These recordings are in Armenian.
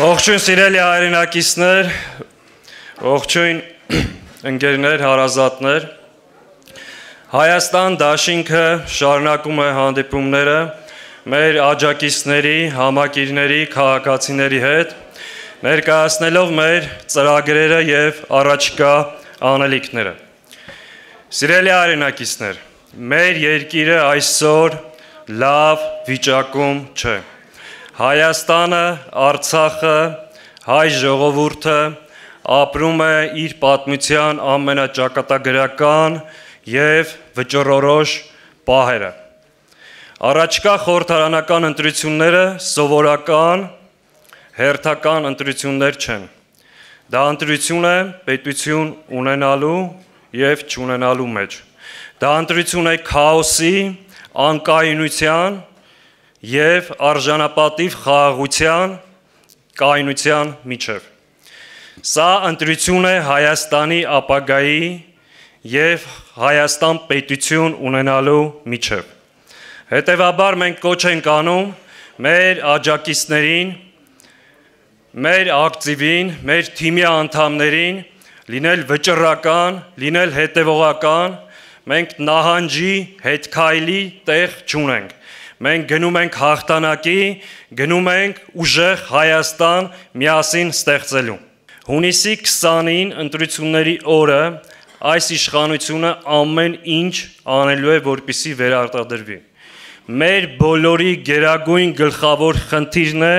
Ողջույն սիրելի հայրենակիցներ, ողջույն ընկերներ, հարազատներ, Հայաստան դաշինքը շարունակում է հանդիպումները մեր աջակիցների, համակիրների, քաղաքացիների հետ, ներկայացնելով մեր ծրագրերը և առաջիկա անելիքները։ Սիրելի հայրենակիցներ, մեր երկիրը այսօր լավ վիճակում չէ։ Հայաստանը, Արցախը, հայ ժողովուրդը ապրում է իր պատմության ամենաճակատագրական և վճռորոշ պահերը։ Առաջիկա խորհրդարանական ընտրությունները սովորական, հերթական ընտրություններ չեն։ Դա ընտրություն է պետություն ունենալու և չունենալու մեջ։ Դա ընտրություն է քաոսի, անկայունության և արժանապատիվ խաղաղության կայունության միջև։ Սա ընտրություն է Հայաստանի ապագայի և Հայաստան պետություն ունենալու միջև։ Հետևաբար մենք կոչ ենք անում մեր աջակիցներին, մեր ակտիվին, մեր թիմի անդամներին լինել վճռական, լինել հետևողական, մենք նահանջի հետ քայլի տեղ չունենք։ Մենք գնում ենք հաղթանակի, գնում ենք ուժեղ Հայաստան միասին ստեղծելու։ Հունիսի 20-ին ընտրությունների օրը այս իշխանությունը ամեն ինչ անելու է, որպեսզի վերարտադրվի։ Մեր բոլորի գերագույն գլխավոր խնդիրն է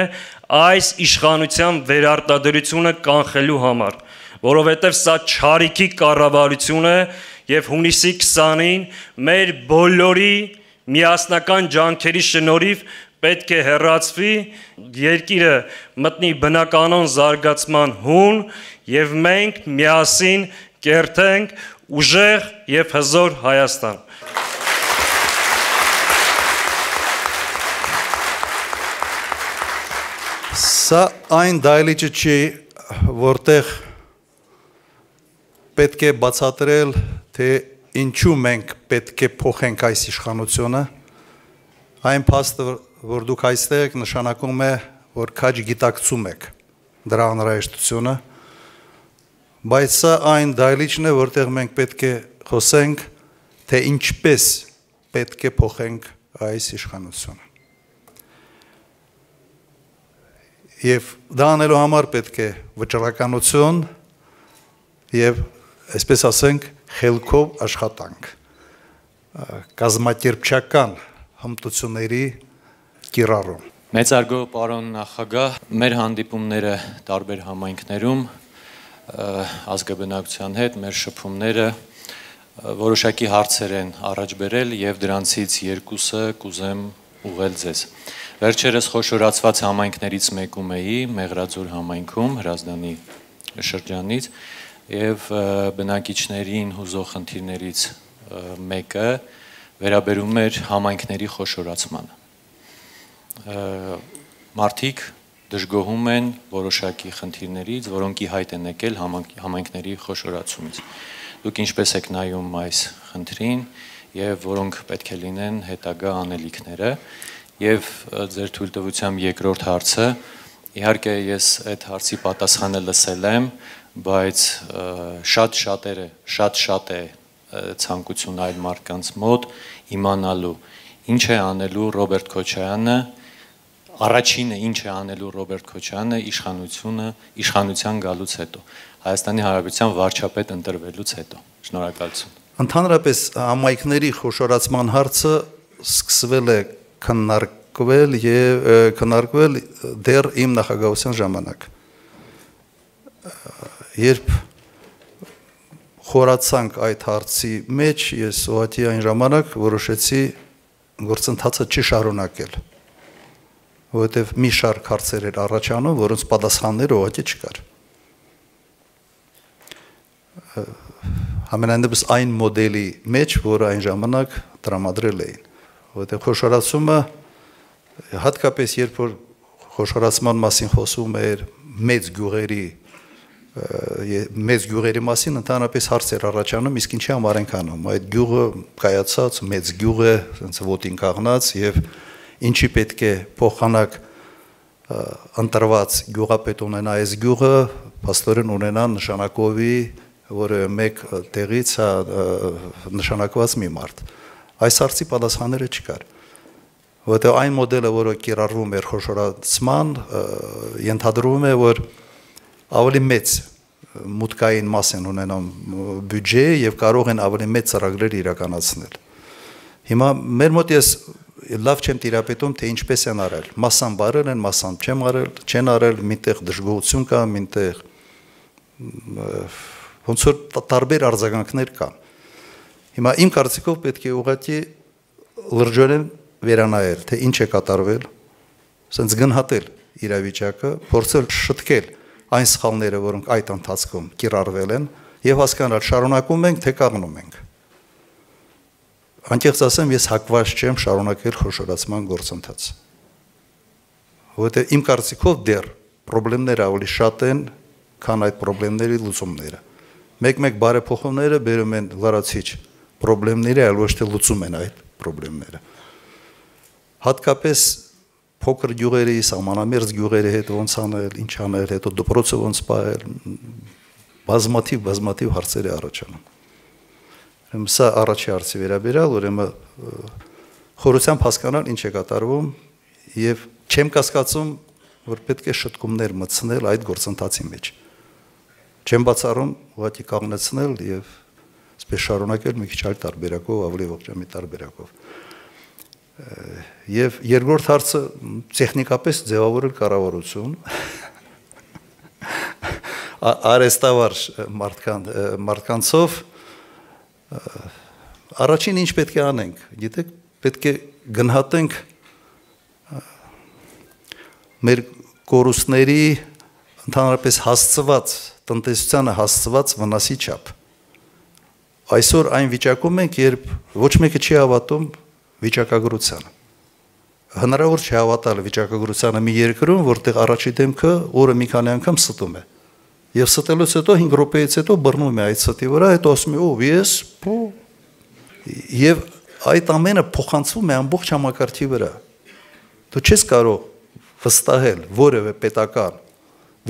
այս իշխանության վերարտադրությունը կանխելու համար, որովհետև սա չարիքի կառավարություն է և հունիսի 20-ին մեր բոլորի միասնական ջանքերի շնորհիվ պետք է հեռացվի, երկիրը մտնի բնականոն զարգացման հուն և մենք միասին կերտենք ուժեղ և հզոր Հայաստան։ Սա այն դահլիճը չի, որտեղ պետք է բացատրել, թե ինչու մենք պետք է փոխենք այս իշխանությունը, այն փաստը, որ դուք այստեղ եք, նշանակում է, որ քաջ գիտակցում եք դրա անհրաժեշտությունը, բայց սա այն դահլիճն է, որտեղ մենք պետք է խոսենք, թե ինչպես պետք է փոխենք այս իշխանությունը։ Եվ դա անելու համար պետք է վճռականություն և, այսպես ասենք, խելքով աշխատանք, կազմակերպչական հմտությունների կիրառում։ Մեծարգո պարոն նախագահ, մեր հանդիպումները տարբեր համայնքներում ազգաբնակության հետ, մեր շփումները որոշակի հարցեր են առաջ բերել և դրանցից երկուսը կուզեմ ուղղել ձեզ։ Վերջերս խոշորացված համայնքներից մեկում էի, Մեղրաձոր համայնքում, Հրազդանի շրջանից, և բնակիչներին հուզող խնդիրներից մեկը վերաբերում էր համայնքների խոշորացմանը։ Մարդիկ դժգոհում են որոշակի խնդիրներից, որոնք ի հայտ են եկել համայնքների խոշորացումից։ Դուք ինչպես եք նայում այս խնդրին և որոնք պետք է լինեն հետագա անելիքները, և ձեր թույլտվությամբ երկրորդ հարցը, իհարկե ես այդ հարցի պատասխանը լսել եմ, բայց շատ է ցանկություն այլ մարդկանց մոտ իմանալու ինչ է անելու Ռոբերտ Քոչարյանը, առաջինը ինչ է անելու Ռոբերտ Քոչարյանը իշխանության գալուց հետո, Հայաստանի Հանրապետության վարչապետ ընտրվելուց հետո։ Շնորհակալություն։ Ընդհանրապես համայնքների խոշորացման հարցը սկսվել է քննարկվել դեռ իմ նախագահության ժամանակ։ Երբ խորացանք այդ հարցի մեջ, ես ուղղակի այն ժամանակ որոշեցի գործընթացը չշարունակել, որովհետև մի շարք հարցեր էր առաջանում, որոնց պատասխանները ուղղակի չկար։ Համենայնդեպս այն մոդելի մեջ, որը այն ժամանակ տրամադրել էին, որովհետև խոշորացումը, հատկապես երբ որ խոշորացման մասին խոսում էր մեծ գյուղերի մասին ընդհանրապես հարցեր առաջանում, իսկ ինչի համար ենք անում, այդ գյուղը կայացած, մեծ գյուղ է, ոտին կաղնած և ինչի պետք է փոխանակ ընտրված գյուղապետ ունենա այս գյուղը, փաստորեն ունենա նշանակովի, որը մեկ տեղից նշանակված մի մարդ։ Այս հարցի պատասխանները չկար։ Որտեղ այն մոդելը, որը կիրառվում էր խոշորացման, ենթադրվում է, որ ավելի մեծ մուտքային մաս են ունենամ բյուջե եւ կարող են ավելի մեծ ծրագրեր իրականացնել։ Հիմա մեր մոտ ես լավ չեմ տիրապետում, թե ինչպես են արել։ Մասսան բարել են, մասսան չեն արել, մինտեղ դժգոհություն կա, մինտեղ ոնց որ տարբեր արձագանքներ կան։ Հիմա իմ կարծիքով պետք է ուղղակի լրջորեն վերանայել, թե ինչ է կատարվել, ասենց գնահատել իրավիճակը, փորձել շտկել այն սխալները, որոնք այդ ընթացքում կիրառվել են, եւ հասկանալ շարունակում ենք, թե կանգնում ենք։ Անկեղծ ասեմ, ես հակված չեմ շարունակել խոշորացման գործընթացը։ Որտեղ իմ կարծիքով դեռ խնդիրները ավելի շատ են, քան այդ խնդիրների լուծումները։ Մեկ-մեկ բարեփոխումները բերում են լրացիչ խնդիրների, այլ ոչ թե լուծում են այդ խնդիրները։ Հատկապես փոքր գյուղերի, սահմանամերձ գյուղերի հետ ոնց անել, ինչ անել, հետո դպրոցը ոնց պահել, բազմաթիվ հարցեր է առաջանում։ Սա առաջի հարցի վերաբերյալ, ուրեմն խորությամբ հասկանալ ինչ է կատարվում եւ չեմ կասկածում, որ պետք է շտկումներ մտցնել այդ գործընթացի մեջ։ Չեմ բացառում ուղղակի կանգնեցնել եւ այսպես շարունակել մի քիչ այլ տարբերակով, ավելի ողջամիտ տարբերակով։ Եվ երկրորդ հարցը տեխնիկապես ձևավորել կառավարություն արեստավար մարդկանցով առաջին ինչ պետք է անենք, գիտեք, պետք է գնահատենք մեր կորուստների ընդհանրապես հասցված տնտեսությանը հասցված վնասի չափ։ Այսօր այն վիճակում ենք, երբ ոչ մեկը չի հավատում վիճակագրությանը։ Հնարավոր չի հավատալ վիճակագրությանը մի երկրում, որտեղ առաջի դեմքը օրը մի քանի անգամ ստում է։ Եվ ստելուց հետո 5 րոպեից հետո բռնում է այդ ստի վրա, հետո ասում է՝ «Ով ես»։ Եվ այդ ամենը փոխանցվում է ամբողջ համակարգի վրա։ Դու չես կարող վստահել որևէ պետական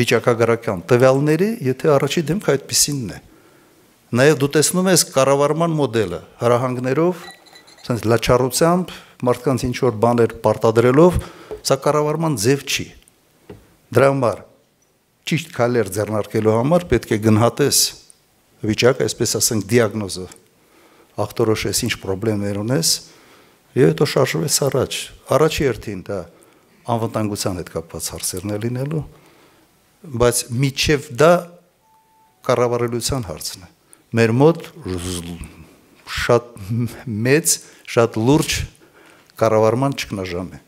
վիճակագրական տվյալների, եթե առաջի դեմքը այդպիսինն է։ Նաև դու տեսնում ես կառավարման մոդելը հրահանգներով, ասենց լաչառությամբ, մարդկանց ինչ որ բաներ պարտադրելով, սա կառավարման ձև չի։ Դրա համար ճիշտ քայլեր ձեռնարկելու համար պետք է գնահատես վիճակը, այսպես ասենք, դիագնոզը, ախտորոշես ինչ խնդիրներ ունես, եւ հետո շարժվես առաջ։ Առաջի հերթին դա անվտանգության հետ կապված հարցերն է լինելու, բայց միջև դա կառավարելիության հարցն է։ Մեր մոտ շատ մեծ, շատ լուրջ կառավարման ճգնաժամ է։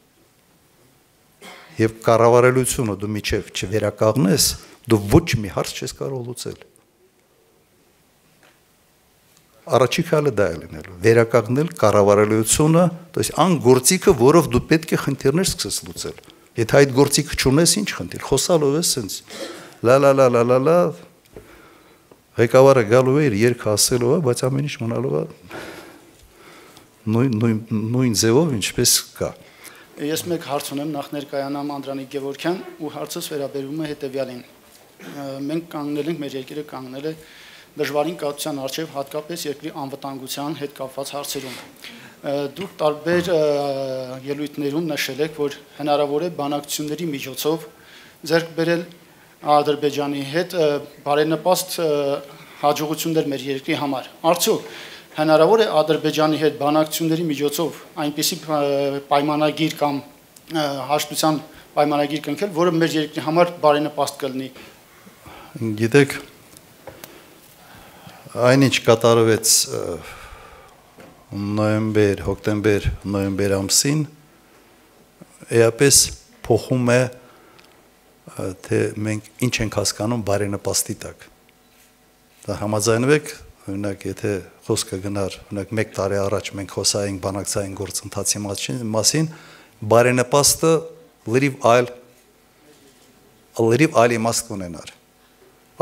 Եվ կառավարելիությունը դու միջև չվերականգնես, դու ոչ մի հարց չես կարող լուծել։ Առաջի քայլը դա է լինելու, վերականգնել կառավարելիությունը, то есть այն գործիքը, որով դու պետք է խնդիրներ սկսես լուծել։ Եթե այդ գործիքը չունես, ինչ խնդիր, խոսալով ես սենց լա, ղեկավարը գալու է իր երգը ասելու է, բայց ամեն ինչ մնալու է նույն ձևով, ինչպես կա։ Ես մեկ հարց ունեմ, նախ ներկայանամ Անդրանիկ Գևորգյան, ու հարցս վերաբերում է հետևյալին։ Մենք կանգնել ենք, մեր երկիրը կանգնել է դժվարին կացության առջև, հատկապես երկրի անվտանգության հետ կապված հարցերում։ Դուք տարբեր ելույթներում նշել եք, որ հնարավոր է բանակցությունների միջոցով ձեռք բերել Ադրբեջանի հետ բարենպաստ հաջողություններ մեր երկրի համար։ Արդյոք հնարավոր է Ադրբեջանի հետ բանակցությունների միջոցով այնպիսի պայմանագիր կամ հաշտության պայմանագիր կնքել, որը մեր երկրի համար բարենպաստ կլինի։ Գիտեք, այնինչ կատարվեց հոկտեմբեր ամսին, էապես փոխում է, թե մենք ինչ ենք հասկանում բարենպաստի տակ։ Դա համաձայնվեք, օրինակ, եթե խոսքը գնար, օրինակ 1 տարի առաջ մենք խոսայինք բանակցային գործընթացի մասին, բարենպաստը լրիվ այլ իմաստ կունենար։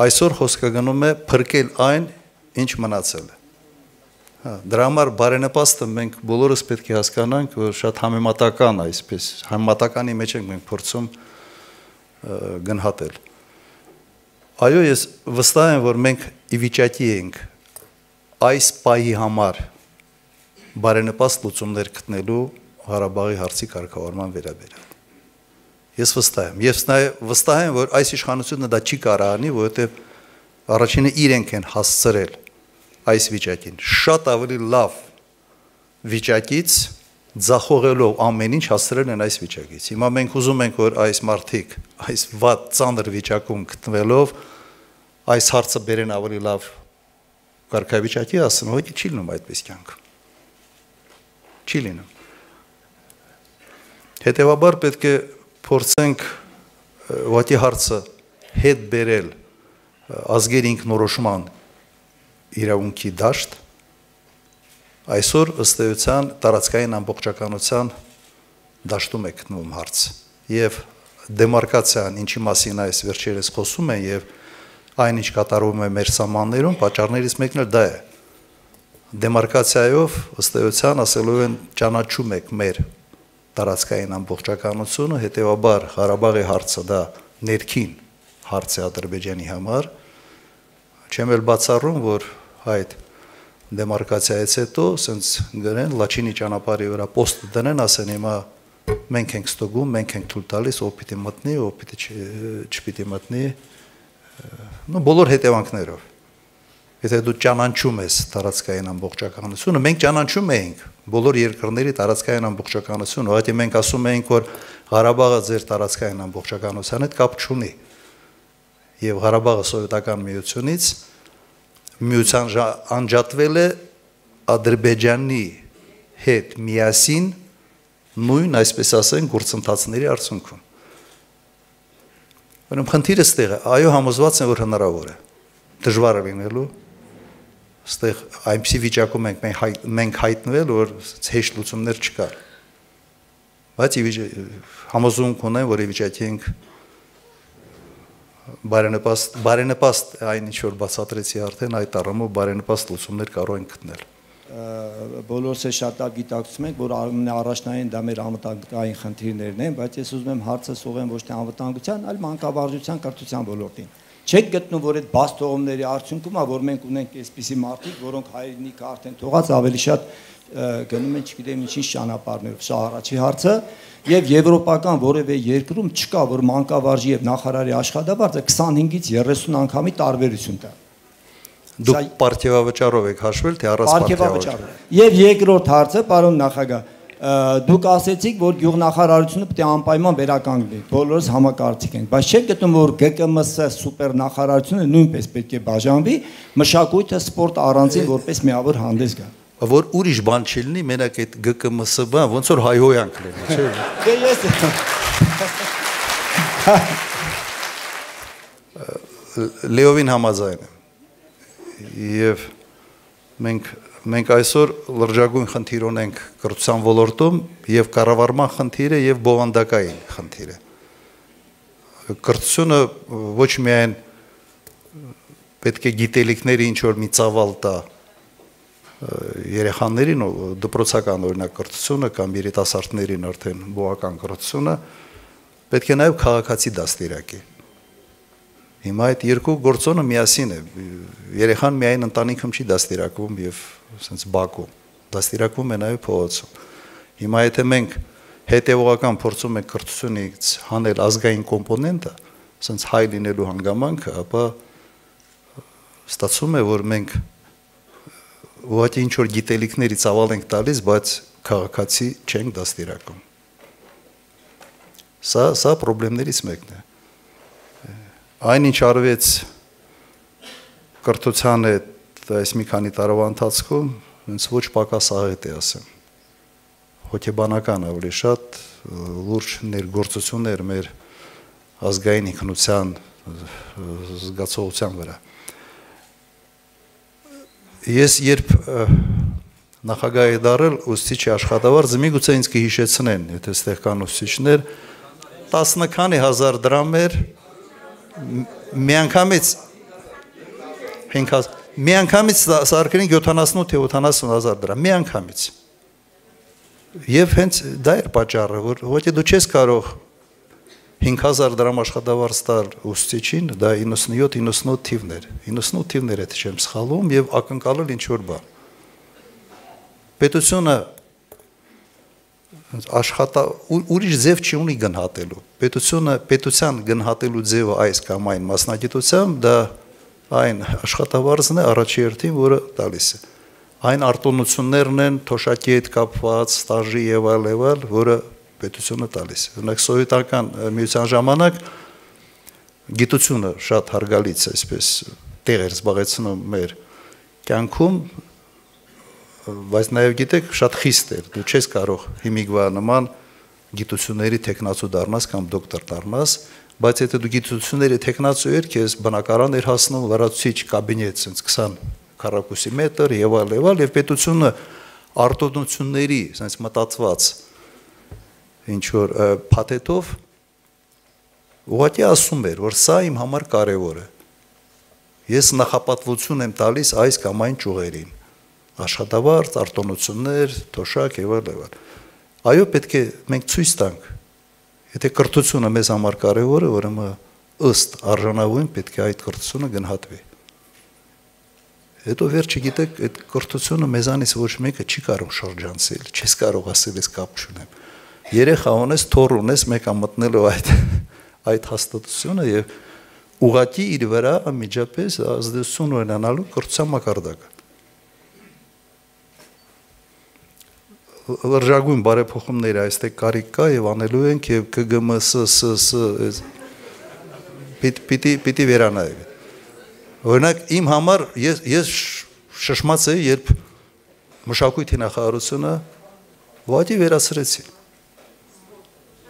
Այսօր խոսքը գնում է փրկել այն, ինչ մնացել է։ Դրա համար բարենպաստը մենք բոլորս պետք է հասկանանք, որ շատ համեմատական այսպես, համեմատականի մեջ ենք մենք փորձում գնահատել։ Այո, ես վստահ եմ, որ մենք ի վիճակի ենք այս պահի համար բարենպաստ լուծումներ գտնելու Ղարաբաղի հարցի կարգավորման վերաբերյալ։ Ես վստահ եմ։ Ես վստահ եմ, որ այս իշխանությունը դա չի կարող անի, որովհետև առաջինը իրենք են հասցրել այս վիճակին։ Շատ ավելի լավ վիճակից ձախողելով ամեն ինչ հասցրել են այս վիճակից։ Հիմա մենք ուզում ենք, որ այս մարդիկ այս վատ ծանր վիճակում գտնվելով այս հարցը բերեն ավելի լավ կարգավիճակի, ասեն, հոգի չի լինում այդպես կյանք։ Չի լինում։ Հետևաբար պետք է փորձենք ուղղակի հարցը հետ բերել ազգերի ինքնորոշման իրավունքի դաշտ, այսօր ըստ էության տարածքային ամբողջականության դաշտում է գտնվում հարց եւ դեմարկացիան, ինչի մասին այս վերջերս խոսում են եւ այն ինչ կատարվում է մեր սահմաններում, պատճառներից մեկն էլ դա է։ Դեմարկացիայով ըստ էության ասելու են ճանաչում եք մեր տարածքային ամբողջականությունը, հետեւաբար Ղարաբաղի հարցը դա ներքին հարց է Ադրբեջանի համար, չեմ էլ բացառում, որ այդ դեմարկացիայից հետո ասենց գրեն Լաչինի ճանապարհի վրա պոստ դնեն, ասեն հիմա մենք ենք ստուգում, մենք ենք թույլ տալիս, ով պիտի մտնի, ով պիտի չպիտի մտնի, բոլոր հետևանքներով։ Եթե դու ճանաչում ես տարածքային ամբողջականությունը, մենք ճանաչում էինք բոլոր երկրների տարածքային ամբողջականությունը, ուղղակի մենք ասում էինք, որ Ղարաբաղը ձեր տարածքային ամբողջականության հետ կապ չունի։ Եվ Ղարաբաղը սովետական միությունից միության անջատվել է Ադրբեջանի հետ միասին նույն, այսպես ասենք, գործընթացների արդյունքում։ Ուրեմն խնդիրը ստեղ է, այո, համոզված եմ, որ հնարավոր է։ Դժվար է լինելու։ Ստեղ այնպիսի վիճակում մենք հայտնվել, որ հեշտ լուծումներ չկար։ Բայց համոզունք ունեմ, որ ի վիճակի ենք բարենպաստ այն ինչ որ բացատրեցի արդեն, այդ առումով բարենպաստ լուծումներ կարող ենք գտնել։ Բոլորս է շատ լավ գիտակցում ենք, որ առաջնային դա մեր անվտանգային խնդիրներն են, բայց ես ուզում եմ հարցը սողեմ ոչ թե անվտանգության, այլ մանկավարժության կրթության ոլորտին։ Չեք գտնում, որ այդ բաց թողումների արդյունքում է, որ մենք ունենք այսպիսի մարդիկ, որոնք հայրենիքը արդեն թողած ավելի շատ գնում են, չգիտեմ ինչի ճանապարհներով, սա առաջի հարցը, եւ եվրոպական որևէ երկրում չկա, որ մանկավարժի եւ նախարարի աշխատավարձը 25-ից 30 անգամի տարբերություն տա։ Դուք պարտիվավճարով եք հաշվել, թե առանց պարտիվավճարով։ Եվ երկրորդ հարցը, պարոն նախագահ, դուք ասեցիք, որ գյուղնախարարությունը պետք է անպայման վերականգնվի, բոլորս համակարծիք ենք, բայց չեք գտնում, որ ԳԿՄՍ սուպեր նախարարությունը նույնպես պետք է բաժանվի, մշակույթը, սպորտը առանձին որպես միավոր հանդես գա։ Որ ուրիշ բան չլինի, մենակ այդ ԳԿՄՍ բան, ոնց որ հայհոյանք լինի, չէ՞։ Դե ես Լեովին համաձայն եմ։ Եվ մենք այսօր լրջագույն խնդիր ունենք կրթության ոլորտում եւ կառավարման խնդիրը եւ բովանդակային խնդիրը։ Կրթությունը ոչ միայն պետք է գիտելիքների ինչ որ մի ծավալ տա երեխաներին, դպրոցական օրինակ կրթությունը կամ երիտասարդներին արդեն բովական կրթությունը, պետք է նաեւ քաղաքացի դաստիարակի։ Հիմա այդ երկու գործոնը միասին է։ Երեխան միայն ընտանիքում չի դաստիարակվում եւ ասենց բակում, դաստիարակվում է նաեւ փողոցում։ Հիմա եթե մենք հետեւողական փորձում ենք կրթությունից հանել ազգային կոմպոնենտը, ասենց հայ լինելու հանգամանքը, ապա ստացվում է, որ մենք ուղղակի ինչ որ գիտելիքների ծավալ ենք տալիս, բայց քաղաքացի չենք դաստիարակում։ Սա խնդիրներից մեկն է։ Այն ինչ արվեց կրթության հետ այս մի քանի տարվա ընթացքում, ինձ ոչ պակաս աղետ է ասեմ։ Հոգեբանական ավելի շատ լուրջ ներգործություններ մեր ազգային ինքնության զգացողության վրա։ Ես երբ նախագահ եմ դարձել ուսուցիչի աշխատավարձը, միգուցե ինձ կհիշեցնեն, եթե ստեղ կան ուսուցիչներ, 10 քանի հազար դրամ էր միանգամից սարքրին 78-70,000 դրամ, միանգամից։ Եվ հենց դա էր պատճառը, որ ոչ դու չես կարող 5000 դրամ աշխատավարձ տալ ուսուցիչին, դա 97-98 թիվներ, 98 թիվներ է, թե չեմ սխալվում, եւ ակնկալել ինչ որ բան։ Պետությունը ուրիշ ձև չի ունի գնահատելու։ Պետության գնահատելու ձևը այս կամ այն մասնագիտությամբ դա այն աշխատավարձն է առաջի հերթին, որը տալիս է։ Այն արտոնություններն են թոշակի հետ կապված, ստաժի եւ այլ, որը պետությունը տալիս է։ Օրինակ սովետական միության ժամանակ գիտությունը շատ հարգալից այսպես տեղ էր զբաղեցնում մեր կյանքում, բայց նաև գիտեք, շատ խիստ էր, դու չես կարող հիմիկվա նման գիտությունների տեխնացու դառնաս կամ դոկտոր դառնաս, բայց եթե դու գիտությունների տեխնացու ես, քեզ բնակարան էր հասնում լրացուցիչ կաբինետ, ասենց 20 քառակուսի մետր եւ այլ, եւ պետությունը արտոնությունների, ասենց մտածված ինչ որ փաթեթով ուղղակի ասում էր, որ սա իմ համար կարևոր է։ Ես նախապատվություն եմ տալիս այս կամ այն ճյուղերին։ Աշխատավարձ, արտոնություններ, թոշակ եւ այլ։ Այո, պետք է մենք ցույց տանք։ Եթե կրթությունը մեզ համար կարևոր է, ուրեմն ըստ արժանավորին պետք է այդ կրթությունը գնահատվի։ Հետո վերջը գիտեք, այդ կրթությունը մեզանից ոչ մեկը չի կարող շրջանցել, չես կարող ասել ես կապ չունեմ։ Երեխա ունես, թոռ ունես, մեկը մտնելու այդ հաստատությունը եւ ուղղակի իր վրա անմիջապես ազդեցություն ունենալու կրթության մակարդակը։ Լրջագույն բարեփոխումները այստեղ կարիք կա եւ անելու ենք եւ ԿԳՄՍ պիտի վերանայվի։ Օրինակ իմ համար ես շշմած էի, երբ մշակույթի նախարարությունը ուղղակի վերացրեցին։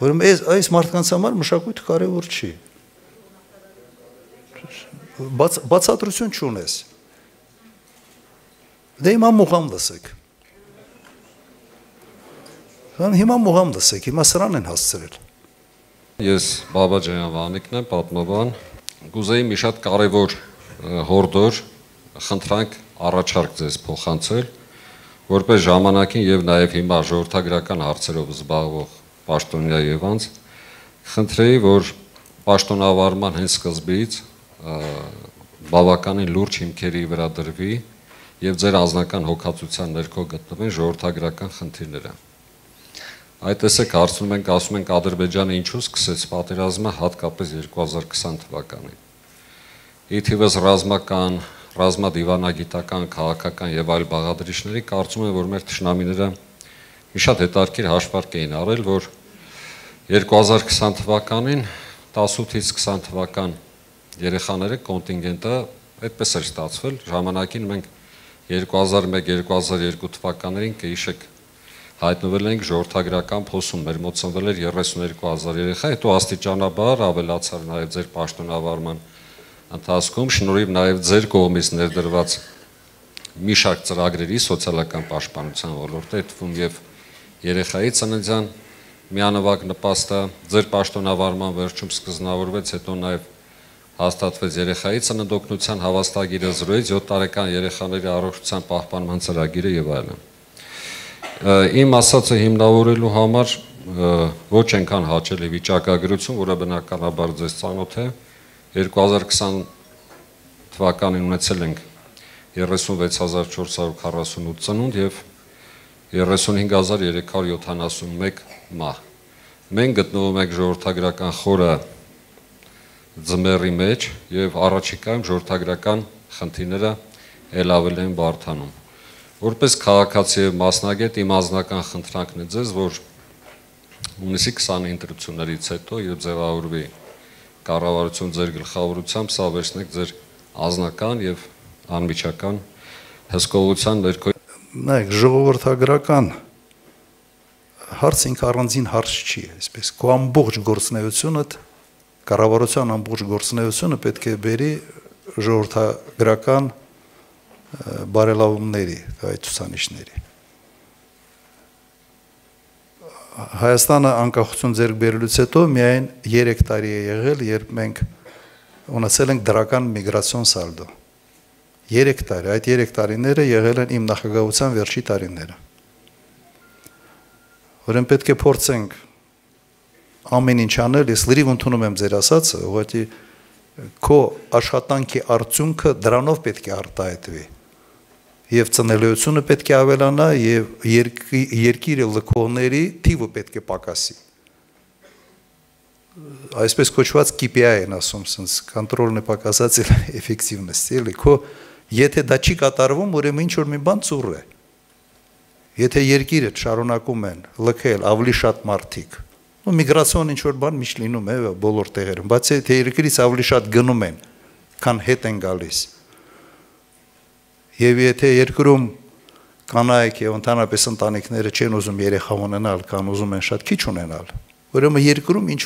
Ուրեմն այս մարդկանց համար մշակույթը կարևոր չի։ Բացատրություն չունես։ Դե հիմա մուղամ լսեք։ Հիմա մուղամ լսեք, հիմա սրան են հասցրել։ Ես Բաբաջյան Վանիկն եմ, պատմաբան։ Կուզեի մի շատ կարևոր հորդոր խնդրանք առաջարկ ձեզ փոխանցել, որպես ժամանակին եւ նաեւ հիմա ժողովրդագրական հարցերով զբաղվող պաշտոնյա եւ անձ, խնդրեի, որ պաշտոնավարման հենց սկզբից բավականին լուրջ հիմքերի վրա դրվի եւ ձեր անձնական հոգացության ներքո գտնվեն ժողովրդագրական խնդիրները։ Այդ տեսեք հարցնում ենք, ասում ենք Ադրբեջանը ինչու սկսեց պատերազմը հատկապես 2020 թվականին։ Ի թիվս ռազմական, ռազմադիվանագիտական, քաղաքական եւ այլ բաղադրիչների կարծում եմ, որ մեր թշնամիները մի շատ հետաքրքիր հաշվարկ էին արել, որ 2020 թվականին 18-ից 20 թվական երեխաները կոնտինգենտը այդպես էր ստացվել, ժամանակին մենք 2001-2002 թվականներին կհիշեք հայտնվել ենք ժողովրդագրական փոսում, մեր մոտ ծնվել էր 32,000 երեխա, հետո աստիճանաբար ավելացավ նաև ձեր պաշտոնավարման ընթացքում, շնորհիվ նաև ձեր կողմից ներդրված մի շարք ծրագրերի սոցիալական պաշտպանության ոլորտը, այդ թվում եւ երեխայի ծննդյան միանվագ նպաստը, ձեր պաշտոնավարման վերջում սկզբնավորվեց, հետո նաև հաստատվեց երեխայի ծննդօգնության հավաստագիրը, 0-7 տարեկան երեխաների առողջության պահպանման ծրագիրը եւ այլն։ Իմ ասածը հիմնավորելու համար ոչ այնքան հաճելի վիճակագրություն, որը բնականաբար ձեզ ծանոթ է, 2020 թվականին ունեցել ենք 36448 ծնունդ եւ 35371 մահ։ Մենք գտնվում ենք ժողովրդագրական խորը ձմեռի մեջ եւ առաջիկայում ժողովրդագրական խնդիրները ել ավելի են բարդանում։ Որպես քաղաքացի եւ մասնագետ իմ անձնական խնդրանքն է ձեզ, որ հունիսի 20-ի ընտրություններից հետո եւ ձևավորվի կառավարություն ձեր գլխավորությամբ, սա վերցնեք ձեր անձնական եւ անմիջական հսկողության ներքո։ Նայեք, ժողովրդագրական հարց ինքը առանձին հարց չի, այսպես քո ամբողջ գործունեությունը, կառավարության ամբողջ գործունեությունը պետք է բերի ժողովրդագրական բարելավումների, այդ ցուցանիշների։ Հայաստանը անկախություն ձեռք բերելուց հետո միայն 3 տարի է եղել, երբ մենք ունեցել ենք դրական միգրացիոն սալդո։ 3 տարի, այդ 3 տարիները եղել են իմ նախագահության վերջի տարիները։ Ուրեմն պետք է փորձենք ամեն ինչ անել, ես լրիվ ընդունում եմ ձեր ասածը, ուղղակի քո աշխատանքի արդյունքը դրանով պետք է արտահայտվի։ Եվ ծնելիությունը պետք է ավելանա եւ երկիրը լքողների թիվը պետք է պակասի։ Այսպես կոչված KPI են ասում, sense կոնտրոլն է պակասած էֆեկտիվնեսը, էլի քո եթե դա չի կատարվում, ուրեմն ինչ որ մի բան ծուռ է։ Եթե երկիրը շարունակում են լքել ավելի շատ մարդիկ, ու միգրացիոն ինչ որ բան միշտ լինում է բոլոր տեղերում, բայց եթե երկրից ավելի շատ գնում են, քան հետ են գալիս։ Եվ եթե երկրում կանայք եւ ընդհանրապես ընտանիքները չեն ուզում երեխա ունենալ, կան ուզում են շատ քիչ ունենալ, ուրեմն երկրում ինչ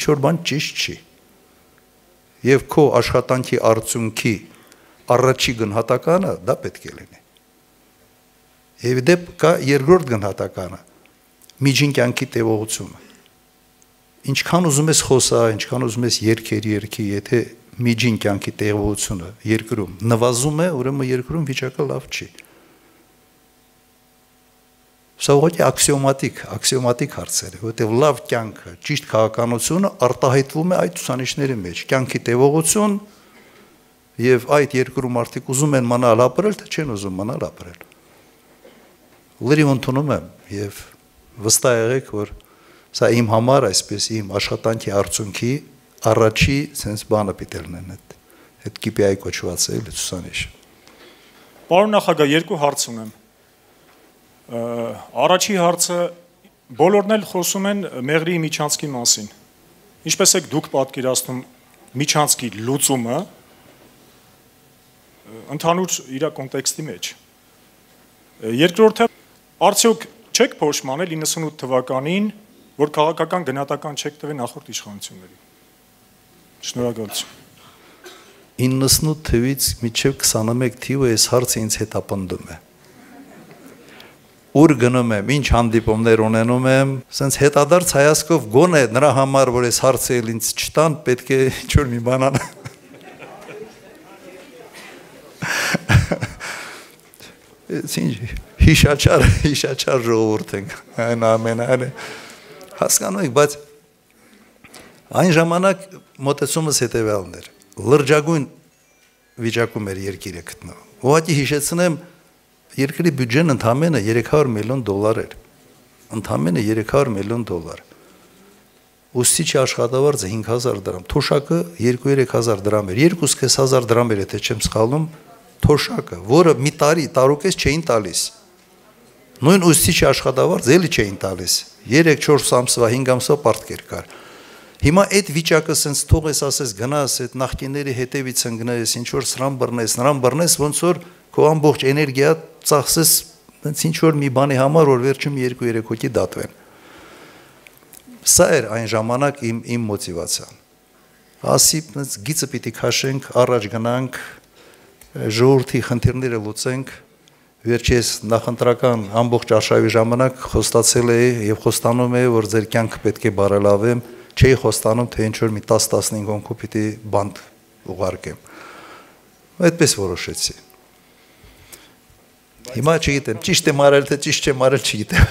որ բան ճիշտ չի։ Եվ քո աշխատանքի արդյունքի առաջի գնահատականը դա պետք է լինի։ Եվ դեպ կա երկրորդ գնահատականը՝ միջին կյանքի տևողությունը։ Ինչքան ուզում ես խոսա, ինչքան ուզում ես երգի, եթե միջին կյանքի տևողությունը երկրում նվազում է, ուրեմն երկրում վիճակը լավ չի։ Սա ուղղակի աքսիոմատիկ հարցեր է, որովհետև լավ կյանքը, ճիշտ քաղաքականությունը արտահայտվում է այդ ցուցանիշների մեջ։ Կյանքի տևողություն եւ այդ երկրում մարդիկ ուզում են մնալ ապրել, թե չեն ուզում մնալ ապրել։ Լրիվ ընդունում եմ եւ վստահ եղեք, որ սա իմ համար այսպես իմ աշխատանքի արդյունքի առաջի sense բանը պիտի լինեն այդ KPI կոչված է ցուցանիշը։ Պարոն նախագահ, երկու հարց ունեմ։ Առաջի հարցը բոլորն էլ խոսում են Մեղրիի միջանցքի մասին։ Ինչպես եք դուք պատկերացնում միջանցքի լուծումը ընդհանուր իր կոնտեքստի մեջ։ Երկրորդը արդյոք չեք փոշմանել 98 թվականին, որ քաղաքական գնահատական չեք տվել նախորդ իշխանությունների։ Շնորհակալություն։ 98 թվականից մինչև 21 թիվը այս հարցը ինձ հետապնդում է։ Ուր գնում եմ, ինչ հանդիպումներ ունենում եմ, սենց հետադարձ հայացքով գոնե նրա համար, որ այս հարցը ինձ չտան, պետք է ինչ-որ մի բան անեմ։ Հիշաչար ժողովուրդ ենք, այն ամենայնը հասկանում եք, բայց այն ժամանակ մոտեցումս հետևյալն էր, լրջագույն վիճակում էր երկիրը գտնվում, ուղղակի հիշեցնեմ, երկրի բյուջեն ընդամենը $300 միլիոն էր, ընդամենը $300 միլիոն, ուսուցիչի աշխատավարձը 5,000 դրամ, թոշակը 2-3,000 դրամ էր, 2,500 դրամ էր, եթե չեմ սխալվում, թոշակը, որը մի տարուկես չէին տալիս, նույն ուսուցիչի աշխատավարձ էլի չէին տալիս, 3-4 ամսվա, 5 ամսվա պարտքեր կար։ Հիմա այդ վիճակը սենց թող ես ասես գնաս, այդ նախկինների հետևից ընկնես, ինչ-որ սրան բռնես, ոնց որ քո ամբողջ էներգիա ծախսես ինչ-որ մի բանի համար, որ վերջում 2-3 հոգի դատվեն։ Սա էր այն ժամանակ իմ մոտիվացիան։ Ասի գիծը պիտի քաշենք, առաջ գնանք, ժողովրդի խնդիրները լուծենք, վերջես նախընտրական ամբողջ արշավի ժամանակ խոստացել էի եւ խոստանում էի, որ ձեր կյանքը պետք է բարելավեմ, չէի խոստանում, թե ինչ-որ մի 10-15 հոգու պիտի բանտ ուղարկեմ։ Այդպես որոշեցի։ Հիմա չգիտեմ, ճիշտ եմ արել, թե ճիշտ չեմ արել, չգիտեմ։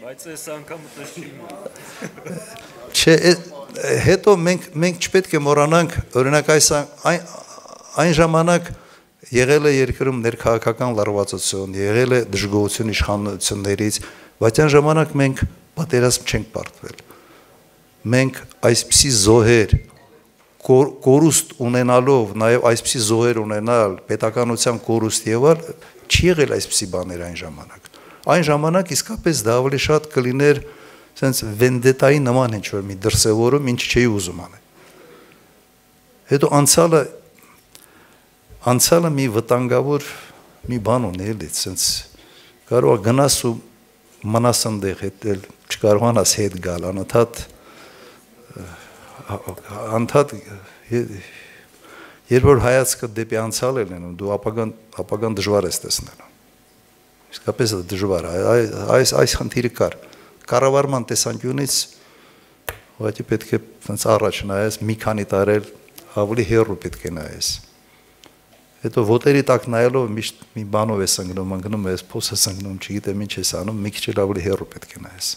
Բայց այս անգամ նշվում է։ Չէ, հետո մենք չպետք է մոռանանք, օրինակ այն ժամանակ եղել է երկրում ներքաղաքական լարվածություն, եղել է դժգոհություն իշխանություններից, բայց այն ժամանակ մենք պատերազմ չենք պարտվել։ Մենք այսպիսի զոհեր կորուստ ունենալով, նաև այսպիսի զոհեր ունենալ, պետականության կորուստ եղալ, չի եղել այսպիսի բաներ այն ժամանակ։ Այն ժամանակ իսկապես դա ավելի շատ կլիներ սենց վենդետայի նման ինչ-որ մի դրսևորում, ինչ չէի ուզում անել։ Հետո անցյալը մի վտանգավոր մի բան ունի էլի, սենց կարող է գնաս ու մնաս ընդեղ հետել, չկարողանաս հետ գալ, անդադ երբ որ հայացքը դեպի անցյալ է լինում, դու ապագան դժվար ես տեսնելու։ Իսկապես դա դժվար է, այս խնդիրը կար։ Կառավարման տեսանկյունից ուղղակի պետք է առաջ նայես, մի քանի տարի ավելի հեռու պետք է նայես։ Հետո ոտերի տակ նայելով միշտ մի բանով ես ընկնում ես, փոս ես ընկնում, չգիտեմ ինչ ես անում, մի քիչ ավելի հեռու պետք է նայես։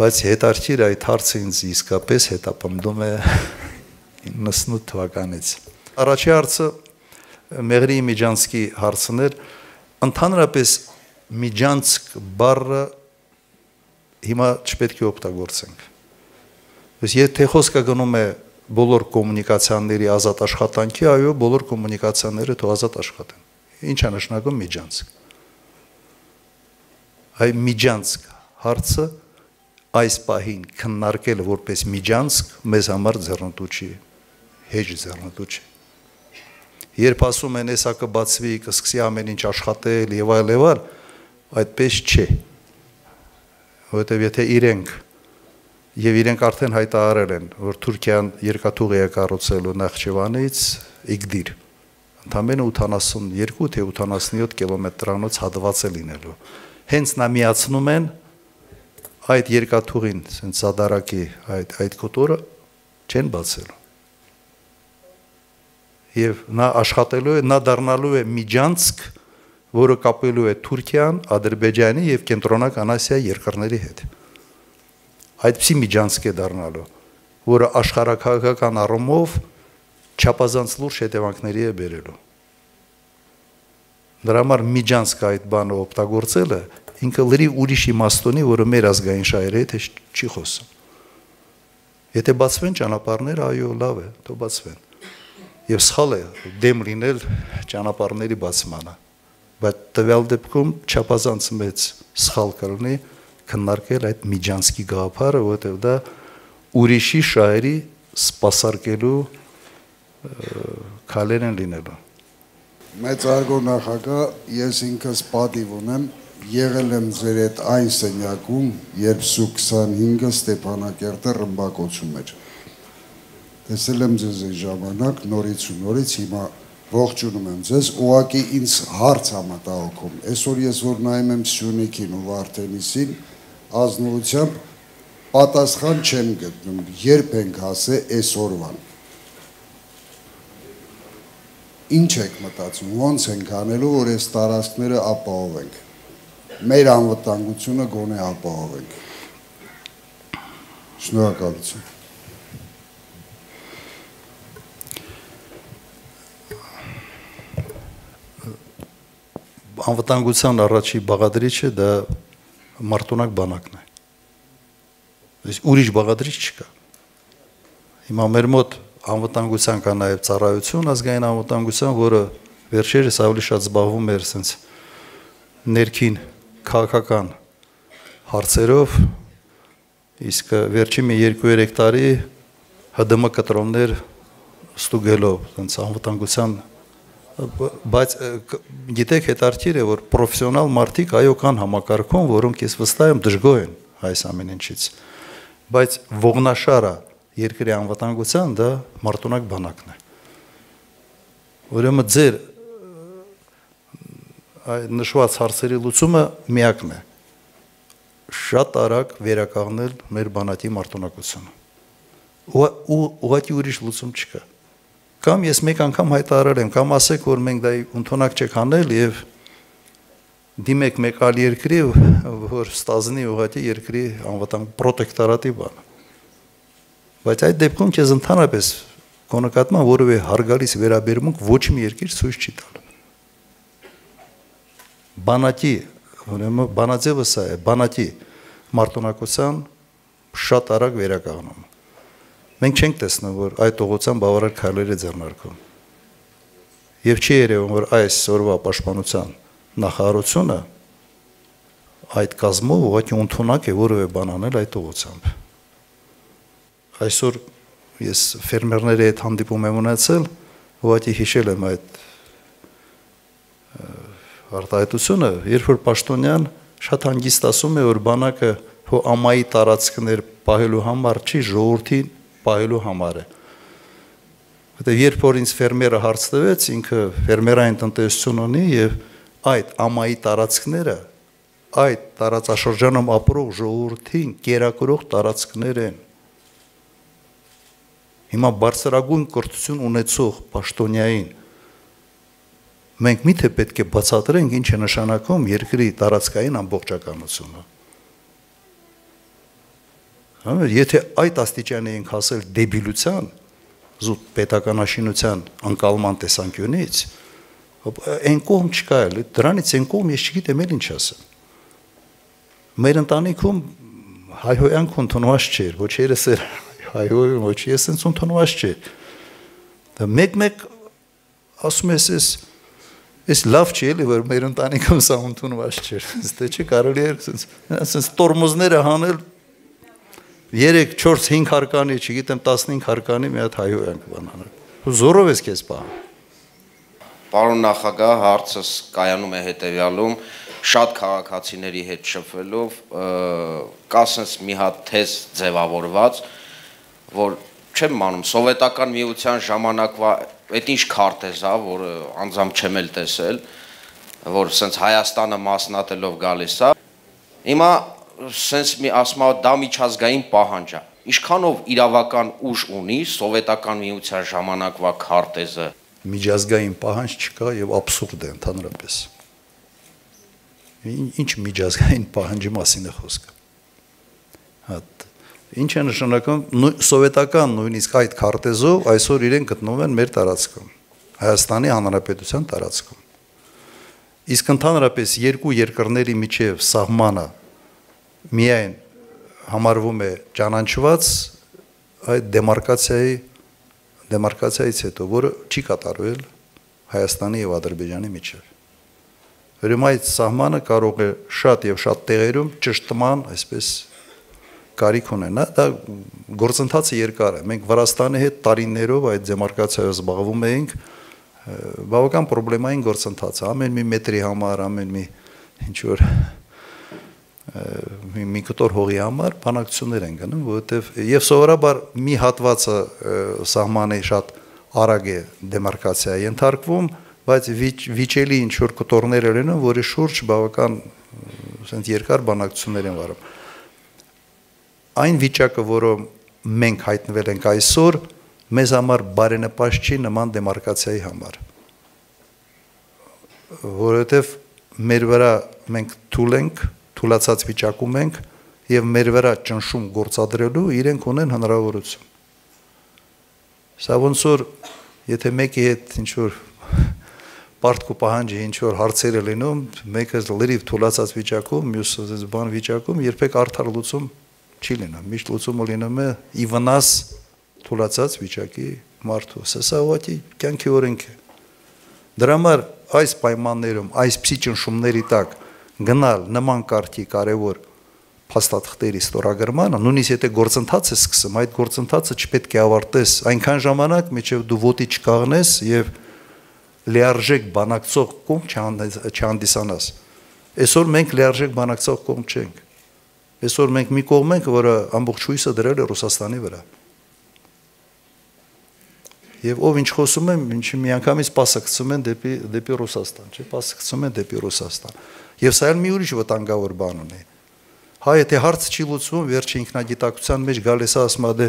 բայց հետարքիր այդ հարցը ինձ իսկապես հետապնդում է 98 թվականից։ Առաջի հարցը Մեղրի Միջանցկի հարցն էր, ընդհանրապես Միջանցկ բառը հիմա չպետք է օգտագործենք։ Եթե խոսքը գնում է բոլոր կոմունիկացիաների ազատ աշխատանքի, այո, բոլոր կոմունիկացիաները թող ազատ աշխատեն։ Ինչ է նշանակում Միջանցկ։ Այ Միջանցկ հարցը այս պահին քննարկել որպես Միջանցկ մեզ համար ձեռնտու չի, հեշտ ձեռնտու չի։ Երբ ասում են հեսա կբացվի, կսկսի ամեն ինչ աշխատել եւ այլ, այդպես չէ։ Որովհետեւ եթե իրենք արդեն հայտարարել են, որ Թուրքիան երկաթուղի է կառուցելու Նախճեվանից Իգդիր, ընդամենը 82 թե 87 կիլոմետրանոց հատված է լինելու։ Հենց նա միացնում են այդ երկաթուղին, ասենց Զադարակի այդ կոտորը չեն բացելու։ Եվ նա աշխատելու է, նա դառնալու է Միջանցկ, որը կապելու է Թուրքիան, Ադրբեջանի եւ Կենտրոնական Ասիայի երկրների հետ։ Այդպիսի Միջանցկ է դառնալու, որը աշխարհակահաղական առումով չափազանց լուրջ հետևանքների է բերելու։ Դրա համար Միջանցկ այդ բանը օգտագործելը ինքը լրի ուրիշ իմաստունի, որը մեր ազգային շահերի հետ չի խոսում։ Եթե բացվեն ճանապարհները, այո, լավ է, թող բացվեն։ Եվ սխալ է դեմ լինել ճանապարհների բացմանը, բայց տվյալ դեպքում չափազանց մեծ սխալ կլինի քննարկել այդ Միջանցկի գաղափարը, որովհետև դա ուրիշի շահերի սպասարկելու քայլեր են լինելու։ Մեծարգո նախագահ, ես ինքս պատիվ ունեմ, եղել եմ ձեր հետ այն սենյակում, երբ Սու-25-ը Ստեփանակերտը ռմբակոծում էր։ Տեսել եմ ձեզ այդ ժամանակ, նորից ու նորից, հիմա ողջունում եմ ձեզ, ուղղակի ինձ հարց համատահոքում։ Այսօր ես որ նայում եմ Սյունիքին ու Վարդենիսին, ազնվությամբ պատասխան չեմ գտնում, երբ ենք հասե այսօրվան։ Ինչ եք մտածում, ոնց ենք անելու, որ այս տարածքները ապահովենք, մեր անվտանգությունը գոնե ապահովենք։ Շնորհակալություն։ Անվտանգության առաջի բաղադրիչը դա մարտունակ բանակն է։ Ուրիշ բաղադրիչ չկա։ Հիմա մեր մոտ անվտանգության կա նաև ծառայություն ազգային անվտանգության, որը վերջերս ավելի շատ զբաղվում էր ասենց ներքին քաղաքական հարցերով, իսկ վերջի մի 2-3 տարի ՀԴՄ կտրոններ ստուգելով ասենց անվտանգության, բայց գիտեք հետարքիր է, որ պրոֆեսիոնալ մարդիկ այո կան համակարգում, որոնք ես վստահ եմ դժգոհ են այս ամեն ինչից, բայց ողնաշարը երկրի անվտանգության դա մարտունակ բանակն է։ Ուրեմն ձեր այդ նշված հարցերի լուծումը միակն է։ Շատ արագ վերականգնել մեր բանակի մարտունակությունը։ Ուղղակի ուրիշ լուծում չկա։ Կամ ես մեկ անգամ հայտարարել եմ, կամ ասեք, որ մենք դա ընդունակ չեք անել եւ դիմեք մեկ այլ երկրի, որ ստազնի ուղղակի երկրի անվտանգ պրոտեկտորատի բանը։ Բայց այդ դեպքում քեզ ընդհանրապես կոնկրետման որևէ հարգալից վերաբերմունք ոչ մի երկիր ցույց չի տալու։ Բանակի, ուրեմն բանաձևը սա է, բանակի մարտունակության շատ արագ վերականգնում։ Մենք չենք տեսնում, որ այդ ուղղությամբ բավարար քայլեր է ձեռնարկում։ Եվ չի երևում, որ այս օրվա պաշտպանության նախարարությունը այդ կազմով ուղղակի ընդունակ է որևէ բան անել այդ ուղղությամբ։ Այսօր ես ֆերմերների հետ հանդիպում եմ ունեցել, ուղղակի հիշել եմ այդ արտահայտությունը, երբ որ Պաշտոնյան շատ հանգիստ ասում է, որ բանակը հո ամայի տարածքներ պահելու համար չի, ժողովրդին պահելու համար է։ Որտեղ երբ որ ինձ ֆերմերը հարց տվեց, ինքը ֆերմերային տնտեսություն ունի եւ այդ ամայի տարածքները այդ տարածաշրջանում ապրող ժողովրդին կերակրող տարածքներ են։ Հիմա բարձրագույն կրթություն ունեցող պաշտոնյային մենք միթե պետք է բացատրենք ինչ է նշանակում երկրի տարածքային ամբողջականությունը։ Եթե այդ աստիճանի ենք հասել դեբիլության, զուտ պետականաշինության անկալման տեսանկյունից, այն կողմ չկա էլ, դրանից այն կողմ ես չգիտեմ էլ ինչ ասեմ։ Մեր ընտանիքում հայհոյանք ընդունված չէր, ոչ երես էր հայհոյում, ոչ ես ընդունված չէր։ Մեկ-մեկ ասում ես, ես լավ չի էլի, որ մեր ընտանիքում սա ընդունված չէր, դե չի կարելի էր ասենց տորմոզները հանել 3, 4, 5 հարկանի, չգիտեմ 15 հարկանի մի հատ հայհոյանք բանանել։ Զորով ես քեզ պահ։ Պարոն նախագահ, հարցս կայանում է հետևյալում, շատ քաղաքացիների հետ շփվելով, կա sense մի հատ թեզ ձևավորված, որ չեմ մանում, սովետական միության ժամանակվա այդ ինչ քարտեզ է, որ անձամբ չեմ էլ տեսել, որ sense Հայաստանը մասնատելով գալիս է։ Հիմա sense մի ասում է դա միջազգային պահանջ է։ Ինչքանով իրավական ուժ ունի սովետական միության ժամանակվա քարտեզը։ Միջազգային պահանջ չկա եւ աբսուրդ է ընդհանրապես։ Ինչ միջազգային պահանջի մասին է խոսքը։ Ինչ է նշանակում սովետական նույնիսկ այդ քարտեզով այսօր իրեն գտնվում են մեր տարածքում, Հայաստանի Հանրապետության տարածքում։ Իսկ ընդհանրապես երկու երկրների միջև սահմանը միայն համարվում է ճանաչված այդ դեմարկացիայից հետո, որը չի կատարվել Հայաստանի եւ Ադրբեջանի միջև։ Ուրեմն այդ սահմանը կարող է շատ եւ շատ տեղերում ճշտման, այսպես կարիք ունենա, դա գործընթացը երկար է։ Մենք Վրաստանի հետ տարիներով այդ դեմարկացիայով զբաղվում էինք, բավական պրոբլեմային գործընթաց է, ամեն մի մետրի համար, ամեն մի ինչ որ մի կտոր հողի համար բանակցություններ են գնում, որովհետև եւ սովորաբար մի հատվածը սահմանի շատ արագ է դեմարկացիա ենթարկվում, բայց վիճելի ինչ որ կտորներ են, որի շուրջ բավական ասենք երկար բանակցություններ են վարում։ Այն վիճակը, որը մենք հայտնվել ենք այսօր, մեզ համար բարենպաստ չի նման դեմարկացիայի համար, որովհետև մեր վրա մենք թույլ ենք, թուլացած վիճակում ենք եւ մեր վրա ճնշում գործադրելու իրենք ունեն հնարավորություն։ Սա ոնց որ եթե մեկի հետ ինչ որ պարտք ու պահանջի ինչ որ հարցեր է լինում, մեկը լրիվ թուլացած վիճակում, մյուսը բան վիճակում, երբեք արդար լուծում չի լինում, միշտ լուծումը լինում է ի վնաս թուլացած վիճակի մարդու։ Սա ուղղակի կյանքի օրենք է։ Դրա համար այս պայմաններում, այսպիսի ճնշումների տակ գնալ նման կարգի կարևոր փաստաթղթերի ստորագրմանը, նույնիսկ եթե գործընթաց է սկսում, այդ գործընթացը չպետք է ավարտես այնքան ժամանակ, մինչև դու ոտի չկաղնես եւ լիարժեք բանակցող կողմ չհանդիսանաս։ Այսօր մենք լիարժեք բանակցող կողմ չենք։ Այսօր մենք մի կողմ ենք, որը ամբողջ հույսը դրել է Ռուսաստանի վրա։ Եվ ով ինչ խոսում է, ինչ միանգամից պասը գցում են դեպի Ռուսաստան, չէ՞, պասը գցում են դեպի Ռուսաստան։ Եվ սա էլ մի ուրիշ վտանգավոր բան ունի։ Հա, եթե հարցը չի լուծվում, վերջի ինքնագիտակցության մեջ գալիս է ասում է,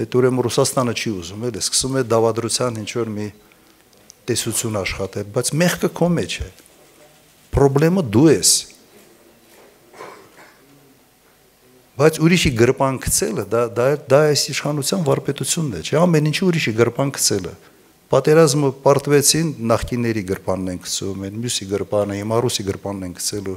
այդ ուրեմն Ռուսաստանը չի ուզում, էլ է սկսում է դավադրության ինչ որ մի տեսություն աշխատել, բայց մեղքը քո մեջ է։ Պրոբլեմը դու ես։ Բայց ուրիշի գրպան գցելը դա այս իշխանության վարպետությունն է, չէ՞, ամեն ինչի ուրիշի գրպան գցելը։ Պատերազմը պարտվեցին, նախկինների գրպանն են գցում, այն մյուսի գրպանը, հիմա ռուսի գրպանն են գցելու։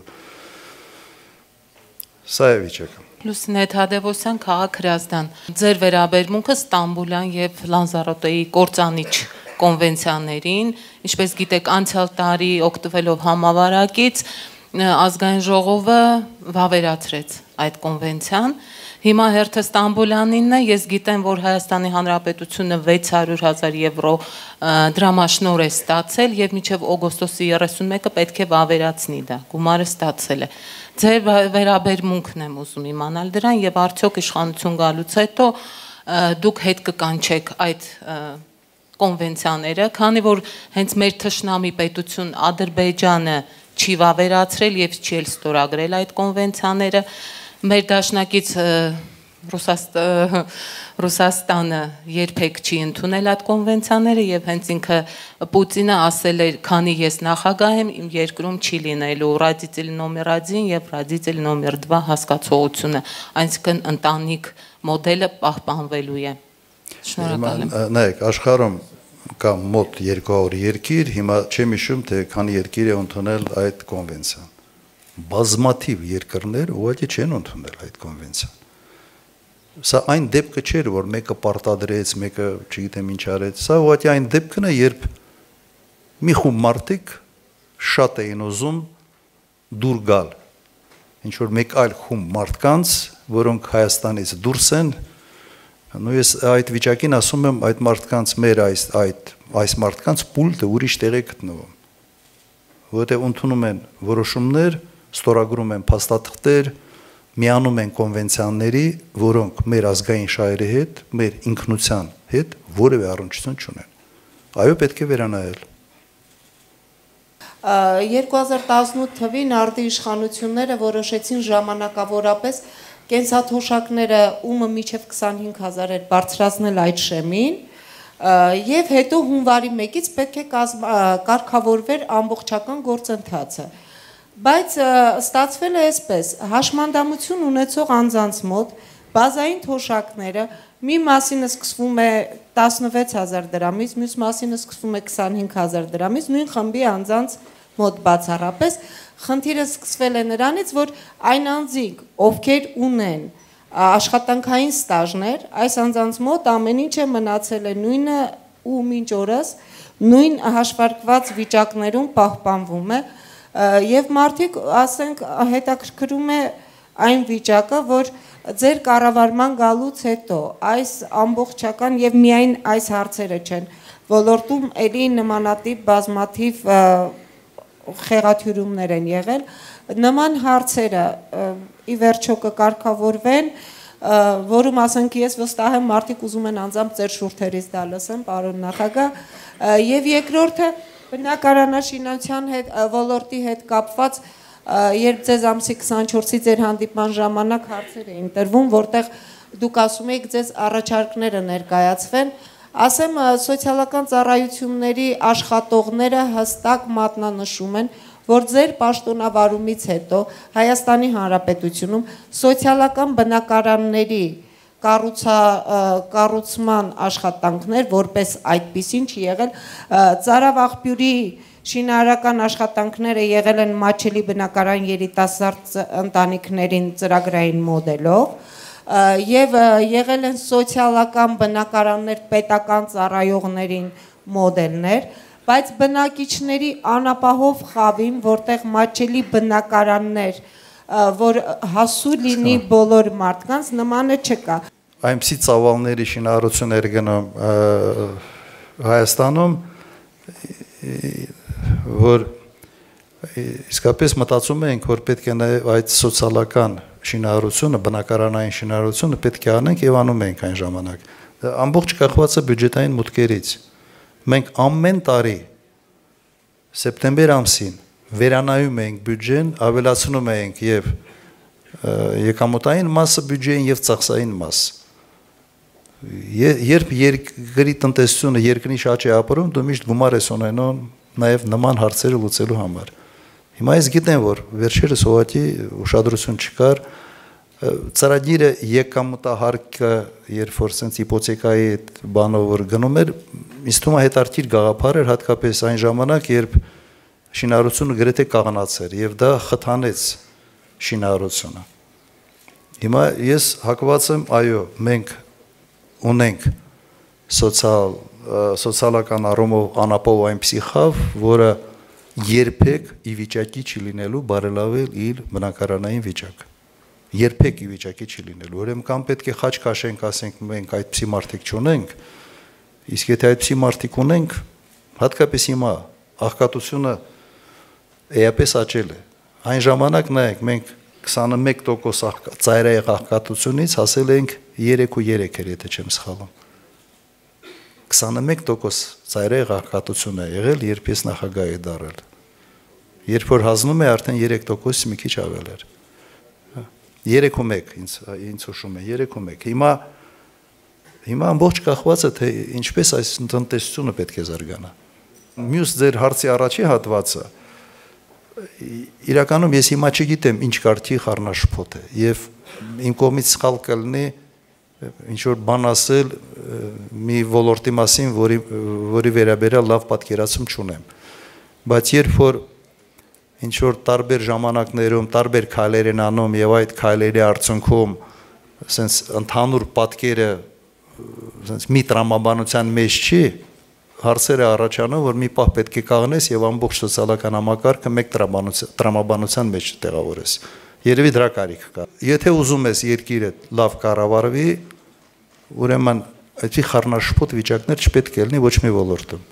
Սա է վիճակը։ Լուսինե Թադևոսյան, քաղաք Հրազդան։ Ձեր վերաբերմունքը Ստամբուլյան եւ Լանզարոտեի կործանիչ կոնվենցիաներին, ինչպես գիտեք, անցյալ տարի օգտվելով համավարակից ազգային ժողովը վավերացրեց այդ կոնվենցիան։ Հիմա հերթը Ստամբուլյանինն է, ես գիտեմ, որ Հայաստանի Հանրապետությունը 600,000 եվրո դրամաշնոր է ստացել եւ մինչեւ օգոստոսի 31-ը պետք է վավերացնի դա, գումարը ստացել է։ Ձեր վերաբերմունքն եմ ուզում իմանալ դրան եւ արդյոք իշխանություն գալուց հետո դուք հետ կկանչեք այդ կոնվենցիաները, քանի որ հենց մեր թշնամի պետություն Ադրբեջանը չի վավերացրել եւ չի էլ ստորագրել այդ կոնվենցիաները, մեր դաշնակից Ռուսաստանը երբեք չի ընդունել այդ կոնվենցիաները եւ հենց ինքը Պուտինը ասել էր, քանի ես նախագահ եմ, իմ երկրում չի լինելու ռադիցիլ նոմեր 1 եւ ռադիցիլ նոմեր 2 հասկացողությունը, այսինքն ընտանիք մոդելը պահպանվելու է։ Շնորհակալ եմ։ Նայեք, աշխարհում կա մոտ 200 երկիր, հիմա չեմ հիշում, թե քանի երկիր է ընդունել այդ կոնվենցիան։ Բազմաթիվ երկրներ ուղղակի չեն ընդունել այդ կոնվենցիան։ Սա այն դեպքը չէր, որ մեկը պարտադրեց, մեկը չգիտեմ ինչ արեց։ Սա ուղղակի այն դեպքն է, երբ մի խումբ մարդիկ շատ էին ուզում դուր գալ։ Ինչ որ մեկ այլ խումբ մարդկանց, որոնք Հայաստանից դուրս են, ու ես այդ վիճակին ասում եմ, այդ մարդկանց մեր այս մարդկանց պուլտը ուրիշ տեղ է գտնվում։ Որտեղ ընդունում են որոշումներ, ստորագրում են փաստաթղթեր, միանում են կոնվենցիաների, որոնք մեր ազգային շահերի հետ, մեր ինքնության հետ որևէ առնչություն չունեն։ Այո, պետք է վերանայել։ 2018 թվին արդի իշխանությունները որոշեցին ժամանակավորապես կենսաթոշակները ումը մինչև 25,000 էր բարձրացնել այդ շեմին, եւ հետո հունվարի 1-ից պետք է կարգավորվեր ամբողջական գործընթացը։ Բայց ստացվել է այսպես, հաշմանդամություն ունեցող անձանց մոտ բազային թոշակները մի մասինը սկսվում է 16,000 դրամից, մյուս մասինը սկսվում է 25,000 դրամից, նույն խմբի անձանց մոտ բացառապես խնդիրը սկսվել է նրանից, որ այն անձիկ, ովքեր ունեն աշխատանքային ստաժներ, այս անձանց մոտ ամեն ինչ է մնացել է նույնը ու մինչ օրս նույն հաշվարկված վիճակներում պահպանվում է եւ մարդիկ, ասենք, հետաքրքրում է այն վիճակը, որ ձեր կառավարման գալուց հետո այս ամբողջական եւ միայն այս հարցերը չեն ոլորտում էլի նմանատիպ բազմաթիվ խեղաթյուրումներ են եղել, նման հարցերը ի վերջո կկարգավորվեն, որում ասենք ես վստահ եմ մարդիկ ուզում են անձամբ ձեր շուրթերից դա լսեն, պարոն նախագահ, եւ երկրորդը բնակարանաշինության հետ ոլորտի հետ կապված երբ ձեզ ամսի 24-ի ձեր հանդիպման ժամանակ հարցեր էին տրվում, որտեղ դուք ասում եք ձեզ առաջարկները ներկայացվեն, ասեմ սոցիալական ծառայությունների աշխատողները հստակ մատնանշում են, որ ձեր պաշտոնավարումից հետո Հայաստանի Հանրապետությունում սոցիալական բնակարանների կառուցման աշխատանքներ, որպես այդպիսին չի եղել, Ծարավաղբյուրի շինարարական աշխատանքները եղել են մատչելի բնակարան երիտասարդ ընտանիքներին ծրագրային մոդելով եւ եղել են սոցիալական բնակարաններ պետական ծառայողներին մոդելներ, բայց բնակիչների անապահով խավին, որտեղ մատչելի բնակարաններ որ հասու լինի բոլոր մարդկանց, նմանը չկա։ Այնպիսի ծավալների շինարարություններ գնում Հայաստանում, որ իսկապես մտածում ենք, որ պետք է նաև այդ սոցիալական շինարարությունը, բնակարանային շինարարությունը պետք է անենք եւ անում ենք այն ժամանակ։ Ամբողջ կախված է բյուջետային մուտքերից։ Մենք ամեն տարի սեպտեմբեր ամսին վերանայում ենք բյուջեն, ավելացնում ենք եւ եկամուտային մասը բյուջեին եւ ծախսային մաս։ Երբ երկրի տնտեսությունը երկրի շաջ է ապրում, դու միշտ գումար ես ունենում նաեւ նման հարցերը լուծելու համար։ Հիմա ես գիտեմ, որ վերջերս ուղղակի ուշադրություն չկար ծրագիրը եկամուտահարկը, երբ որ sense հիպոթեկայի բանով որ գնում էր, ինձ թվում է հետարքիր գաղափար էր հատկապես այն ժամանակ, երբ շինարարությունը գրեթե կաղնացեր եւ դա խթանեց շինարարությունը։ Հիմա ես հակված եմ, այո, մենք ունենք սոցիալական առումով անապահով այնպիսի խավ, որը երբեք ի վիճակի չի լինելու բարելավել իր բնակարանային վիճակը։ Երբեք ի վիճակի չի լինելու։ Ուրեմն կամ պետք է խաչ քաշենք, ասենք մենք այդպիսի մարդիկ չունենք, իսկ եթե այդպիսի մարդիկ ունենք, հատկապես հիմա աղքատությունը էապես աճել է։ Այն ժամանակ նայեք, մենք 21% ծայրահեղ աղքատությունից հասել ենք 3.3 էր, եթե չեմ սխալվում։ 21% ծայրահեղ աղքատություն է եղել, երբ ես նախագահ եմ դարձել։ Երբ որ հանձնում է արդեն 3%-ից մի քիչ ավել էր։ 3-1 ինձ հուշում է 3-1 հիմա ամբողջ կախված է թե ինչպես այս տնտեսությունը պետք է զարգանա մյուս ձեր հարցի առաջի հատվածը իրականում ես հիմա չգիտեմ ինչ կարգի խառնաշփոթ է եւ իմ կողմից սխալ կլինի ինչ որ բան ասել մի ոլորտի մասին որի վերաբերյալ լավ պատկերացում չունեմ բայց երբ որ ինչ որ տարբեր ժամանակներում տարբեր քայլեր են անում եւ այդ քայլերի արդյունքում ասենց ընդհանուր պատկերը ասենց մի տրամաբանության մեջ չի հարցերը առաջանում որ մի պահ պետք է կանգնես եւ ամբողջ սոցիալական համակարգը մեկ տրամաբանության մեջ տեղավորես երևի դրա կարիք կա եթե ուզում ես երկիրը լավ կառավարվի ուրեմն այդի խառնաշփոթ վիճակներ չպետք է լինի ոչ մի ոլորտում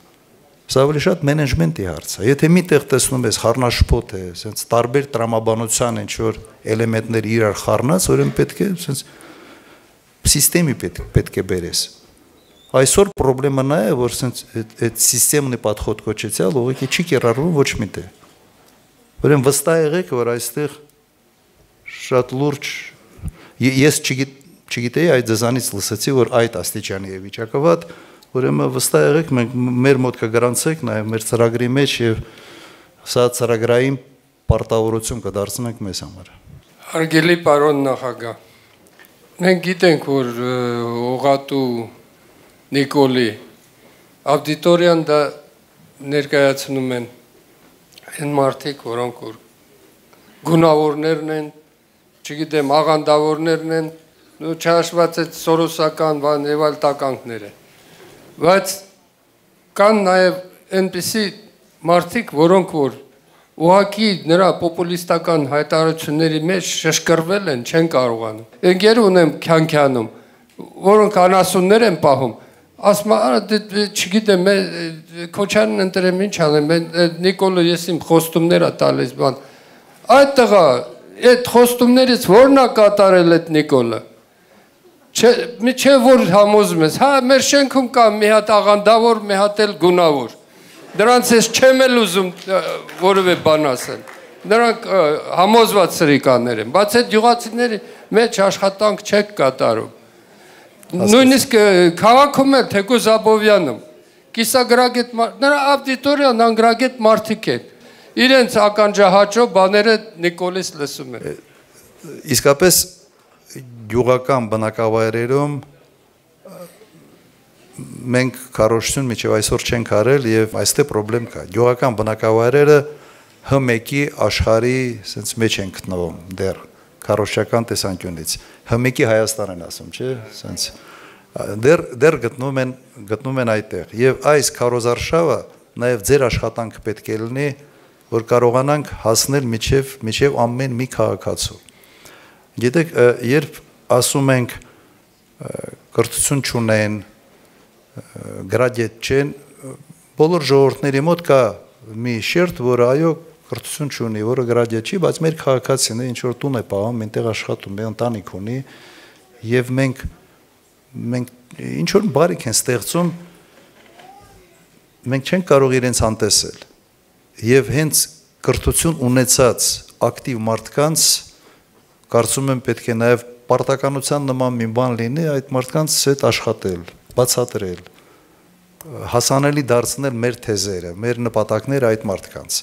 Սա ավելի շատ մենեջմենտի հարց է։ Եթե միտեղ տեսնում ես խառնաշփոթ է, ասենց տարբեր տրամաբանության ինչ որ էլեմենտներ իրար խառնած, ուրեմն պետք է ասենց սիստեմի պետք է բերես։ Այսօր խնդրեմը նա է, որ ասենց այդ սիստեմնի պատխոտ կոչեցյալ ուղղակի չի կիրառվում ոչ միտեղ։ Ուրեմն վստահ եղեք, որ այստեղ շատ լուրջ ես չգիտեի այդ ձեզանից լսեցի, որ այդ աստիճանի է վիճակը վատ Ուրեմն վստահ եղեք մենք մեր մոտ կգրանցենք նաև մեր ծրագրի մեջ եւ սա ծրագրային պարտավորություն կդարձնենք մեզ համար։ Հարգելի պարոն նախագահ, մենք գիտենք որ Օղատու Նիկոլի աուդիտորիան դա ներկայացնում են այն մարդիկ, որոնք որ գունավորներն են, չգիտեմ, աղանդավորներն են, ու չհաշված այդ սորոսական բան եւ այլ տականքները Բայց կան նաև այնպիսի մարդիկ, որոնք որ ուղղակի նրա պոպուլիստական հայտարարությունների մեջ շշկրվել են, չեն կարողանում։ Ընկեր ունեմ քյանքյանում, որոնք անասուններ են պահում, ասում չգիտեմ, Քոչարյանն ընտրեմ ինչ անեմ, Նիկոլը ես իմ խոստումներ ա տալիս բան։ Այդ տղա, այդ խոստումներից ո՞րն ա կատարել այդ Նիկոլը։ Չէ որ համոզում ես, հա մեր շենքում կա մի հատ աղանդավոր, մի հատ էլ գունավոր։ Դրանց ես չեմ էլ ուզում որևէ բան ասել։ Նրանք համոզված սրիկաներ են, բայց այդ յուղացիների մեջ աշխատանք չեք կատարում։ Նույնիսկ քաղաքում էլ թեկուզ Աբովյանում կիսագրագետ նրա աուդիտորիան անգրագետ մարդիկ են։ Իրենց ականջահաճո բաները Նիկոլից լսում են։ Իսկապես գյուղական բնակավայրերում մենք քարոշություն միջև այսօր չենք արել եւ այստեղ խնդրեմ կա գյուղական բնակավայրերը H1-ի աշխարհի sense մեջ են գտնվում դեռ քարոշչական տեսանկյունից H1-ի Հայաստան են ասում չէ sense դեռ գտնում են այդտեղ եւ այս քարոզարշավը նաեւ ձեր աշխատանքը պետք է լինի որ կարողանանք հասնել միջև ամեն մի քաղաքացու Գիտեք, երբ ասում ենք կրթություն չունեն, գրադիետ չեն, բոլոր ժողովուրդների մոտ կա մի շերտ, որը այո կրթություն չունի, որը գրադիետ չի, բայց մեր քաղաքացին է ինչ որ տուն է պահում, այնտեղ աշխատում է, ընտանիք ունի, եւ մենք ինչ որ բարիք են ստեղծում, մենք չենք կարող իրենց անտեսել։ Եվ հենց կրթություն ունեցած ակտիվ մարդկանց Կարծում եմ պետք է նաև պարտականության նման մի բան լինի այդ մարդկանց հետ աշխատել, բացատրել, հասանելի դարձնել մեր թեզերը, մեր նպատակները այդ մարդկանց։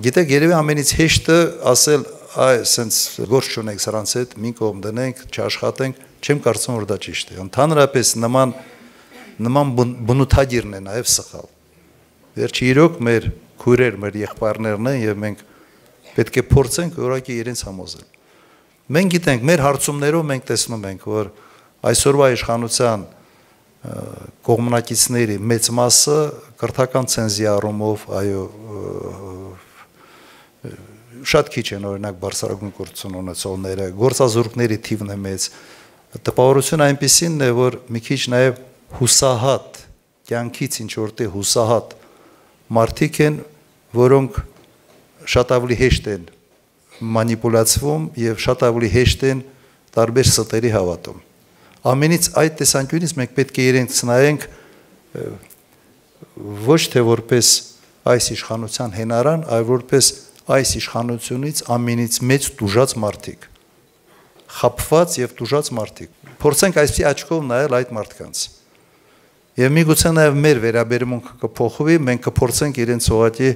Գիտեք, երևի ամենից հեշտը ասել, սենց գործ չունենք սրանց հետ, մի կողմ դնենք, չաշխատենք, չեմ կարծում որ դա ճիշտ է։ Ընդհանրապես նման բնութագիրն է նաև սխալ։ Վերջի իրոք մեր քույրեր, մեր եղբայրներն են եւ մենք պետք է փորձենք որակի իրենց համոզել։ Մենք գիտենք, մեր հարցումներով մենք տեսնում ենք, որ այսօրվա իշխանության կողմնակիցների մեծ մասը կրթական ցենզի առումով, այո, շատ քիչ են օրինակ բարձրագույն կրթություն ունեցողները, գործազուրկների թիվն է մեծ։ Տպավորությունը այնպեսին է, որ մի քիչ նաև հուսահատ, կյանքից ինչ որտեղ հուսահատ մարդիկ են, որոնք շատ ավելի հեշտ են մանիպուլացվում եւ շատ ավելի հեշտ են տարբեր ստերի հավատում։ Ամենից այդ տեսանկյունից մենք պետք է իրենք նայենք ոչ թե որպես այս իշխանության հենարան, այլ որպես այս իշխանությունից ամենից մեծ դուժած մարդիկ, խաբված եւ տուժած մարդիկ։ Փորձենք այսպիսի աչքով նայել այդ մարդկանց։ Եվ միգուցե նաեւ մեր վերաբերմունքը կփոխվի, մենք կփորձենք իրենց ուղղակի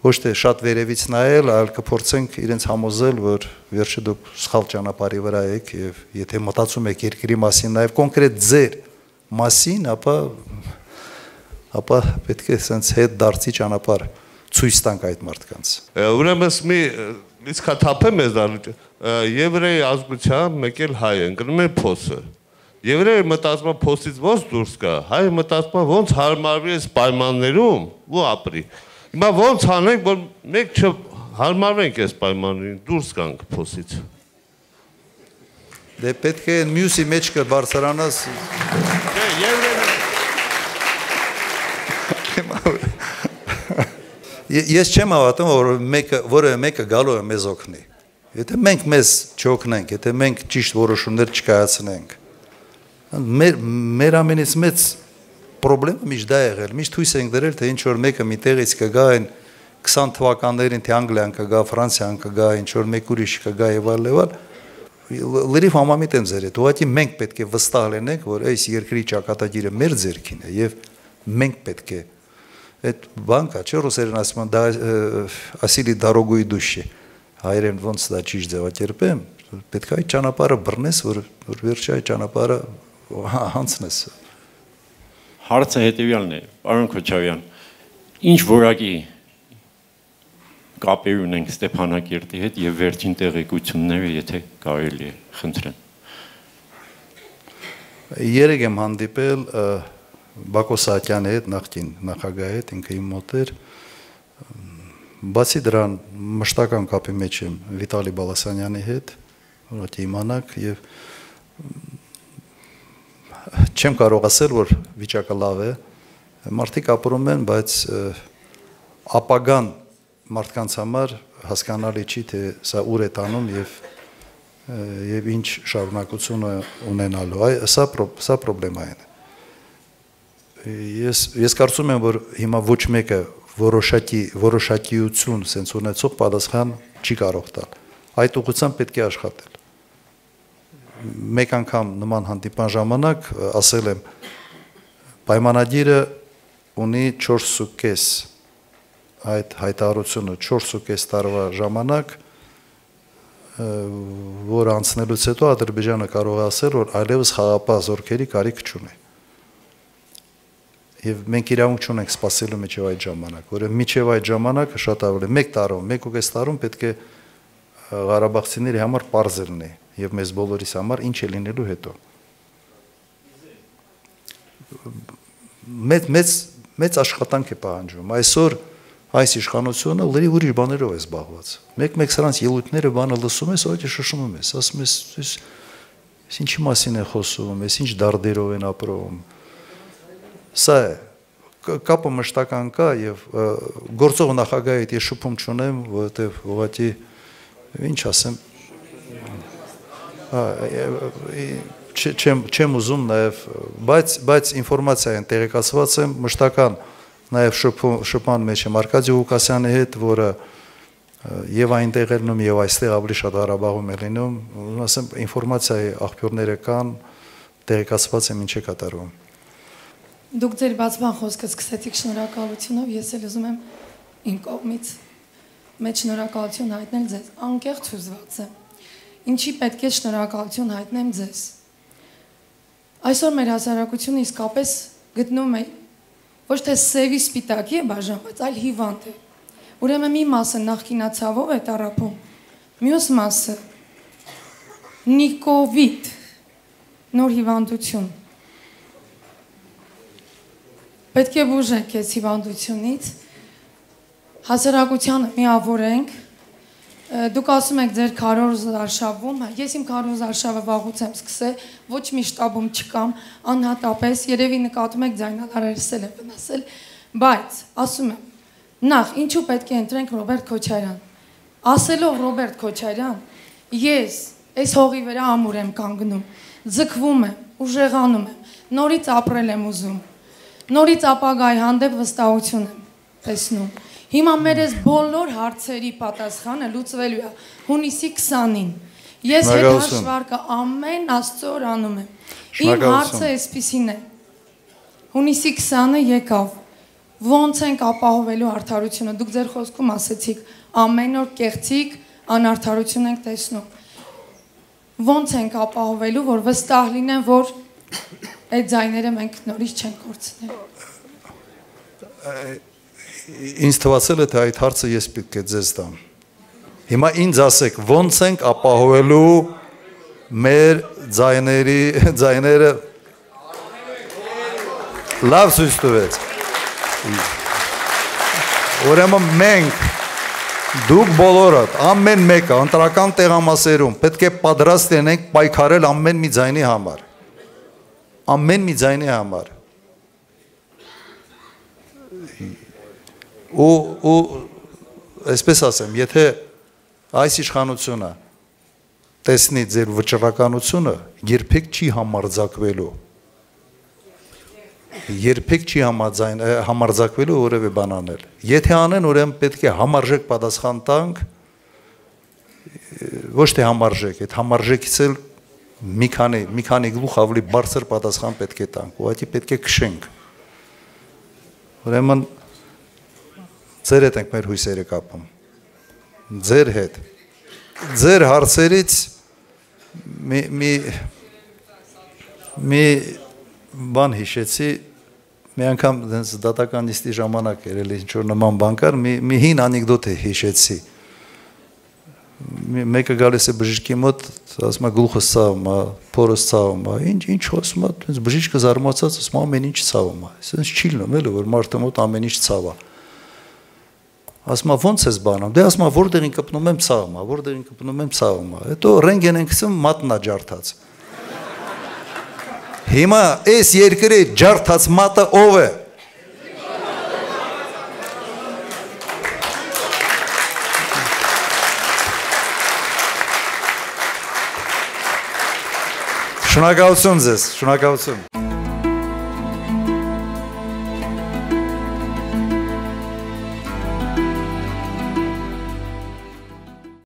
ոչ թե շատ վերևից նայել, այլ կփորձենք իրենց համոզել, որ վերջը դուք սխալ ճանապարհի վրա եք եւ եթե մտածում եք երկրի մասին, նաեւ կոնկրետ ձեր մասին, ապա պետք է sense հետ դարձի ճանապարհ ցույց տանք այդ մարդկանց։ Ուրեմն մի լիցքաթափեմ ես դառնի եվրեի ազգության մեկ էլ հայ են, գնում են փոսը։ Եվրեը մտածում է փոսից ոնց դուրս գա, հայը մտածում է ոնց հարմարվի այս պայմաններում ու ապրի։ Հիմա ոնց անենք, որ մեկ չհարմարվենք այս պայմաններին, դուրս գանք փոսից։ Դե պետք է մյուսի մեջ կբարձրանաս։ Ես չեմ հավատում, որ մեկը գալու է մեզ օգնի։ Եթե մենք մեզ չօգնենք, եթե մենք ճիշտ որոշումներ չկայացնենք, մեր ամենից մեծ պրոբլեմը միշտ դա եղել, միշտ հույս ենք դրել, թե ինչ-որ մեկը մի տեղից կգա այն 20 թվականներին, թե Անգլիան կգա, Ֆրանսիան կգա, ինչ-որ մեկ ուրիշ կգա եւ այլ, լրիվ համամիտ եմ ձեր հետ, ուղղակի մենք պետք է վստահ լինենք, որ այս երկրի ճակատագիրը մեր ձեռքին է եւ մենք պետք է այդ բան կա, չէ՞ ռուսերեն ասում են, դա ասիլի դարոգույի դուշի, հայերեն ոնց դա ճիշտ ձևակերպեմ, պետք է այդ ճանապարհը բռնես, որ վերջի այդ ճանապարհը հանցնես։ Հարցը հետևյալն է, պարոն Քոչարյան, ինչ որակի կապեր ունենք Ստեփանակերտի հետ եւ վերջին տեղեկությունները, եթե կարելի է, խնդրեմ։ Երեք եմ հանդիպել Բակո Սահակյանի հետ, նախկին նախագահի հետ, ինքը իմ մոտ էր։ Բացի դրան մշտական կապի մեջ եմ Վիտալի Բալասանյանի հետ, որ իմանաք եւ չեմ կարող ասել, որ վիճակը լավ է, մարդիկ ապրում են, բայց ապագան մարդկանց համար հասկանալի չի, թե սա ուր է տանում եւ ինչ շարունակություն ունենալու։ Սա պրոբլեմա է։ Ես կարծում եմ, որ հիմա ոչ մեկը որոշակիություն sense ունեցող պատասխան չի կարող տալ։ Այդ ուղղությամբ պետք է աշխատել։ Մեկ անգամ նման հանդիպան ժամանակ ասել եմ, պայմանագիրը ունի 4.5 այդ հայտարարությունը 4.5 տարվա ժամանակ, որ անցնելուց հետո Ադրբեջանը կարող է ասել, որ այլևս խաղապահ զորքերի կարիք չունի։ Եվ մենք իրավունք չունենք սպասելու միջև այդ ժամանակ, որը միջև այդ ժամանակը շատ ավելի 1 տարում, 1.5 տարում պետք է Ղարաբաղցիների համար պարզ լինի եւ մեզ բոլորիս համար ինչ է լինելու հետո։ Մեծ աշխատանք է պահանջվում։ Այսօր այս իշխանությունը լրիվ ուրիշ բաներով է զբաղված։ Մեկ սրանց ելույթները բանը լսում ես, այդ շշմում ես, ասում ես, ինչի մասին է խոսում, ինչ դարդերով են ապրում։ Սա է, կապը մշտական կա եւ գործող նախագահի հետ ես շփում չունեմ, որովհետեւ ուղղակի ինչ ասեմ, չեմ ուզում նաեւ, բայց ինֆորմացիան տեղեկացված եմ մշտական նաեւ շփման մեջ եմ Արկադի Ղուկասյանի հետ, որը եւ այնտեղ է լինում եւ այստեղ ավելի շատ Ղարաբաղում է լինում, ասեմ ինֆորմացիայի աղբյուրները կան, տեղեկացված եմ ինչ է կատարվում։ Դուք ձեր բացման խոսքը սկսեցիք շնորհակալությունով, ես էլ ուզում եմ իմ կողմից մեծ շնորհակալություն հայտնել ձեզ, անկեղծ հուզված եմ։ Ինչի պետք է շնորհակալություն հայտնեմ ձեզ։ Այսօր մեր հասարակությունը իսկապես գտնում է ոչ թե սևի սպիտակի է բաժանված, այլ հիվանդ է։ Ուրեմն մի մասը նախկինացավով է տառապում, մյուս մասը նիկովիդ, նոր հիվանդություն։ Պետք է բուժենք այս հիվանդությունից, հասարակությանը միավորենք, դուք ասում եք ձեր քարոզ արշավում, ես իմ քարոզ արշավը վաղուց եմ սկսել, ոչ մի շտաբում չկամ, անհատապես, երևի նկատում եք ձայնալարերս էլ եմ վնասել, բայց ասում եմ, նախ ինչու պետք է ընտրենք Ռոբերտ Քոչարյան, ասելով Ռոբերտ Քոչարյան, ես այս հողի վրա ամուր եմ կանգնում, ձգվում եմ, ուժեղանում եմ, նորից ապրել եմ ուզում, նորից ապագայի հանդեպ վստահություն եմ տեսնում։ Հիմա մեր այս բոլոր հարցերի պատասխանը լուծվելու է հունիսի 20-ին։ Ես հետհաշվարկը ամեն Աստծո օր անում եմ։ Իմ հարցը այսպիսին է։ Հունիսի 20-ը եկավ։ Ոնց ենք ապահովելու արդարությունը։ Դուք ձեր խոսքում ասեցիք, ամեն օր կեղծիք անարդարություն ենք տեսնում։ Ոնց ենք ապահովելու, որ վստահ լինեն, որ այդ ձայները մենք նորից չենք կորցնել։ Ինձ թվացել է, թե այդ հարցը ես պետք է ձեզ տամ։ Հիմա ինձ ասեք, ոնց ենք ապահովելու մեր ձայները լավ ցույց տվեց։ Ուրեմն մենք դուք բոլորդ ամեն մեկը ընտրական տեղամասերում պետք է պատրաստ լինենք պայքարել ամեն մի ձայնի համար։ Ամեն մի ձայնի համար։ Ու այսպես ասեմ, եթե այս իշխանությունը տեսնի ձեր վճռականությունը, երբեք չի համարձակվելու։ Երբեք չի համարձակվելու որևէ բան անել։ Եթե անեն, ուրեմն պետք է համարժեք պատասխան տանք, ոչ թե համարժեք, այդ համարժեքից էլ մի քանի գլուխ ավելի բարձր պատասխան պետք է տանք, ուղղակի պետք է քշենք։ Ուրեմն ձեր հետ ենք մեր հույսերը կապում։ Ձեր հետ։ Ձեր հարցերից մի բան հիշեցի, մի անգամ դատական նիստի ժամանակ էր, ինչ-որ նման բան կար, մի հին անեկդոտ հիշեցի։ Մեկը գալիս է բժիշկի մոտ, ասում է գլուխս ցավում է, փորս ցավում է, ինչ խոսում է, բժիշկը զարմացած ասում է ամեն ինչ ցավում է։ Այսինքն չի լինում էլի, որ մարդը մոտ ամեն ինչ ցավ է։ Ասում է ո՞նց ես բանում։ Դե ասում է որտեղին կպնում եմ ցավում է, որտեղին կպնում եմ ցավում է։ Հետո ռենտգեն ենք գցում, մատն է ջարդած։ Հիմա այս երկրի ջարդած մատը ով է։ Շնորհակալություն ձեզ, շնորհակալություն։